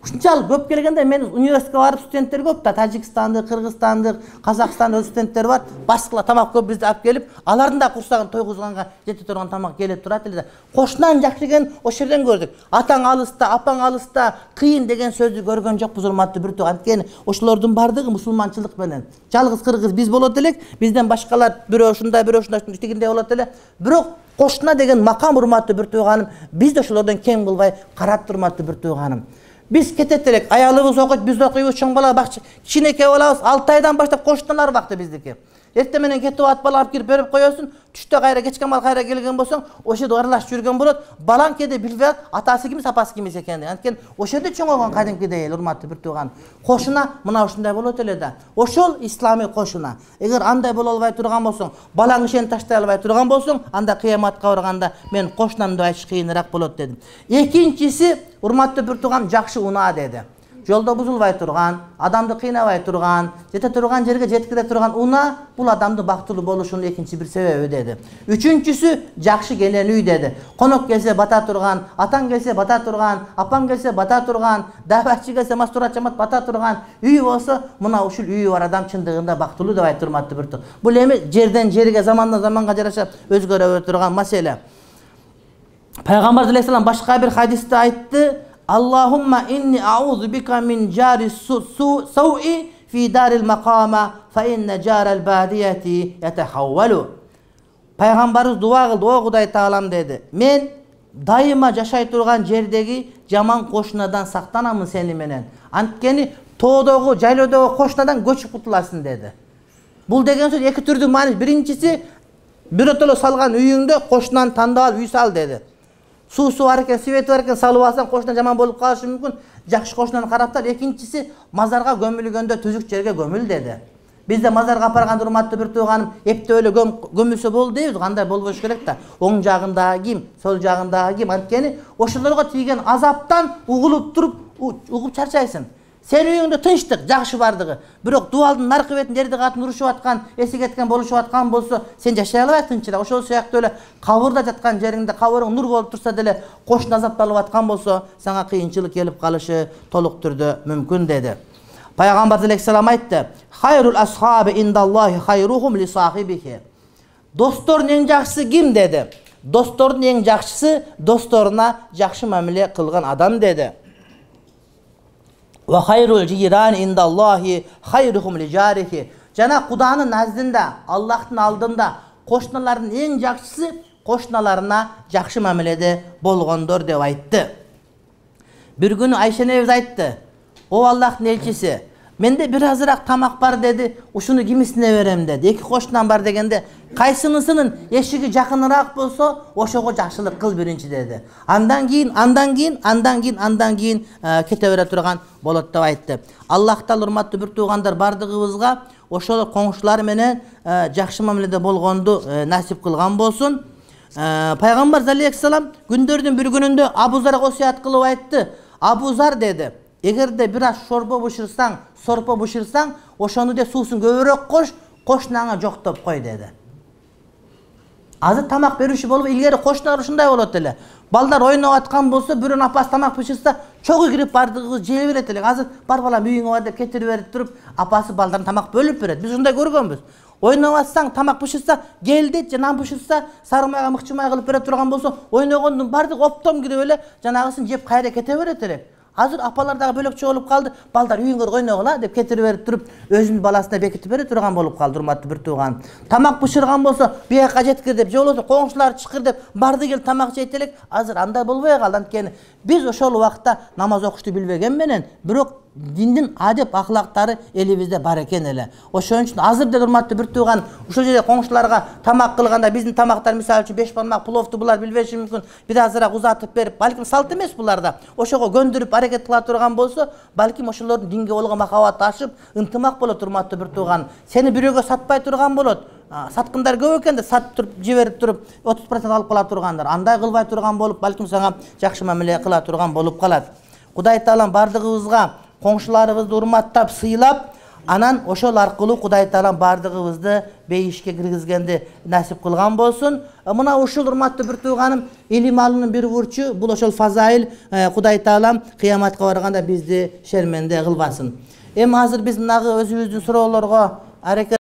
Ушунчалык көп келгенде мен университетке барып студенттер көп да, Тажикстандык, Кыргызстандык, Казакстандык студенттер бар. Башкалар тамак көп бизде алып келип, алардын да курсагын тойгузганга жете турган тамак келип турат эле да. Кошунан жакшы экен ошол жерден көрдүк. Атаң алыста, апаң алыста, кыйын деген сөздү көргөн жокпуз урматтуу бир тууган. Анткени ошолордун бардыгы мусулманчылык менен. Жалгыз кыргыз биз болот элек, бизден башкалар бирөө ушундай, бирөө ушундай тигиндей болот эле. Бирок кошуна деген макам урматтуу бир тууганым, биз да ошолордон кем кылбай карап урматтуу бир тууганым. Биз кетет элек, аялыбыз окуйт, биз окуйбуз, чоң бала бакчы, кичинекей балабыз 6 айдан баштап кошуналар бакты биздики. Эрте менен кетип ат бала алып кирип берип коесуң, түштө кайра кечке мал кайра келген болсоң, ошол жерде аралашып жүргөн болот. Балаң кээде билбей атасы кимис, апасы кимис экенин. Анткени ошол жерде чоңойгон кадимкидей урматтуу бир тууган. Кошуна мына ушундай болот эле да. Ошол исламий кошуна. Эгер андай боло албай турган болсоң, балаң ишени таштай албай турган болсоң, анда кыяматка барганда мен кошунам деп айтыш кыйыныраак болот дедим. Экинчиси, урматтуу бир тууган, жакшы унаа деди. Жолдо бузулбай турган, адамды кыйнабай турган, жете турган жерге жеткире турган унаа бул адамдын бактылуу болушунун экинчи бир себеби деди. Үчүнчүсү, жакшы келен үй деди. Конок келсе бата турган, атаң келсе бата турган, апаң келсе бата турган, дабачы келсе мастурат жамат бата турган үй болсо, мына ушул үйү бар адам чындыгында бактылуу деп айтып урматтуу бир тууган. Бул эми жерден жерге, замандан заманга жараша өзгөрө турган маселе. Пайгамбар саллаллаху алейхи башка бир хадисте айтты: Аллахумма инни аузу бика мин жари сауи фи дарил макама фа инна жарал бадияти ятахаввалу. Пайгамбарыбыз дуа кылды: о Кудай таалам деди, мен дайыма жашай турган жердеги жаман кошунадан сактанамын сени менен. Анткени тоодогу, жайлоодогу кошунадан көчүп кутуласың деди. Бул деген сөз эки түрдүү маани. Биринчиси, биротоло салган үйүңдө кошунан тандап алып үй сал деди. Суусу бар экен, свети бар экен, салып алсаң кошуна жаман болуп калышы мүмкүн. Жакшы кошунаны караптар. Экинчиси, мазарга көмүлгөндө түзүк жерге көмүл деди. Бизде мазарга апарган урматтуу бир тууганым, эптеп эле көмүлсө болду дейбиз, кандай болбош керек да. Оң жагындагы ким, сол жагындагы ким. Анткени ошолорго тийген азаптан угулуп туруп, угуп чарчайсың. Сен үйүңдө тынчтык, жакшы бардыгы. Бирок дубалдын наркы бетинде жерди катын урушуп аткан, эси кеткен болушуп аткан болсо, сен жашай албайсың тынчыраак. Ошол сыяктуу эле кабырда жаткан жериңде кабырың нур болуп турса деле, кошуна азапталып аткан болсо, сага кыйынчылык келип калышы толук түрдө мүмкүн деди. Пайгамбар алейхиссалам айтты: "Хайрул асхаби индаллахи хайрухум ли сахибихи." Достордун эң жакшысы ким деди? Достордун эң жакшысы досторуна жакшы мамиле кылган адам деди. Ва хайрул жирани индаллахи хайрухум ли жарихи. Жана Куданын наздында, Аллахтын алдында кошуналардын эң жакшысы кошуналарына жакшы мамиледе болгондор деп айтты. Бир күнү Айша энебиз айтты: "О Аллахтын элчиси, менде бир азыраак тамак бар" деди. "Ушуну кимисине берем" деди. "Эки кошунам бар" дегенде, "Кайсынысынын эшиги жакыныраак болсо, ошого жакшылык кыл биринчи" деди. Андан кийин кете бере турган болот деп айтты. Аллах Таала урматтуу бир туугандар бардыгыбызга ошол коңшулар менен жакшы мамиледе болгонду насип кылган болсун. Пайгамбар алейхиссалам күндөрдүн бир күнүндө Абу Зарга осуят кылып айтты. "Абу Зар" деди, "Эгерде бир аз сорпо бышырсаң, ошону де суусун көбүрөөк кош, кошунаңа жоктоп кой" деди. Азыр тамак берүүчү болуп, илгери кошуналар ушундай болот эле. Балдар ойноп аткан болсо, бирөөнүн апасы тамак бышырса, чогуу кирип бардыгыбыз жей берет элек. Азыр бар балам үйүңө бар деп кетирип берип туруп, апасы балдарына тамак бөлүп берет. Биз ушундай көргөнбүз. Ойноп атсаң, тамак бышырса, кел дейт, жана бышырса, сарымайга мыкчымай кылып бере турган болсо, ойногондун бардыгы оптом кирип эле жанагысын жеп кайра кете берет элек. Азыр апалар дагы бөлөкчө болуп калды. Балдар үйүңөр ойногула деп кетирип берип туруп, өзүнүн баласына бекитип бере турган болуп калды, урматтуу бир тууган. Тамак бышырган болсо, бияка жеткир деп, же болбосо коңшулар чыкыр деп, барды кел тамак жейт элек. Азыр андай болбой калды. Анткени биз ошол убакта намаз окушту билбеген менен, бирок диндин адеп ахлактары элибизде бар экен эле. Ошон үчүн азыр деле урматтуу бир тууган, ушул жерде коңшуларга тамак кылганда биздин тамактар мисалы үчүн 5 бармак пловду булар билбеши мүмкүн. Бир азыраак узатып берип, балким салт эмес буларда. Ошого көндүрүп аракет кыла турган болсо, балким ошолордун динге болгон махабаты ашып, ынтымак болот урматтуу бир тууган. Сени бирөөгө сатпай турган болот. Саткындар көп экен да сатып туруп, жиберип туруп 30% алып кала тургандар. Андай кылбай турган болуп, балким сага жакшы мамиле кыла турган болуп калат. Кудай Таалам бардыгыбызга коңшуларыбызды урматтап, сыйлап, анан ошол аркылуу Кудай Таалам бардыгыбызды бейишке киргизгенди насип кылган болсун. Мына ушул урматтуу бир тууганым, илим алуунун бир бурчу, бул ошол фазаил. Кудай Таалам кыяматка барганда бизди шерменде кылбасын. Эми азыр биз мынагы өзүбүздүн суроолорго аракет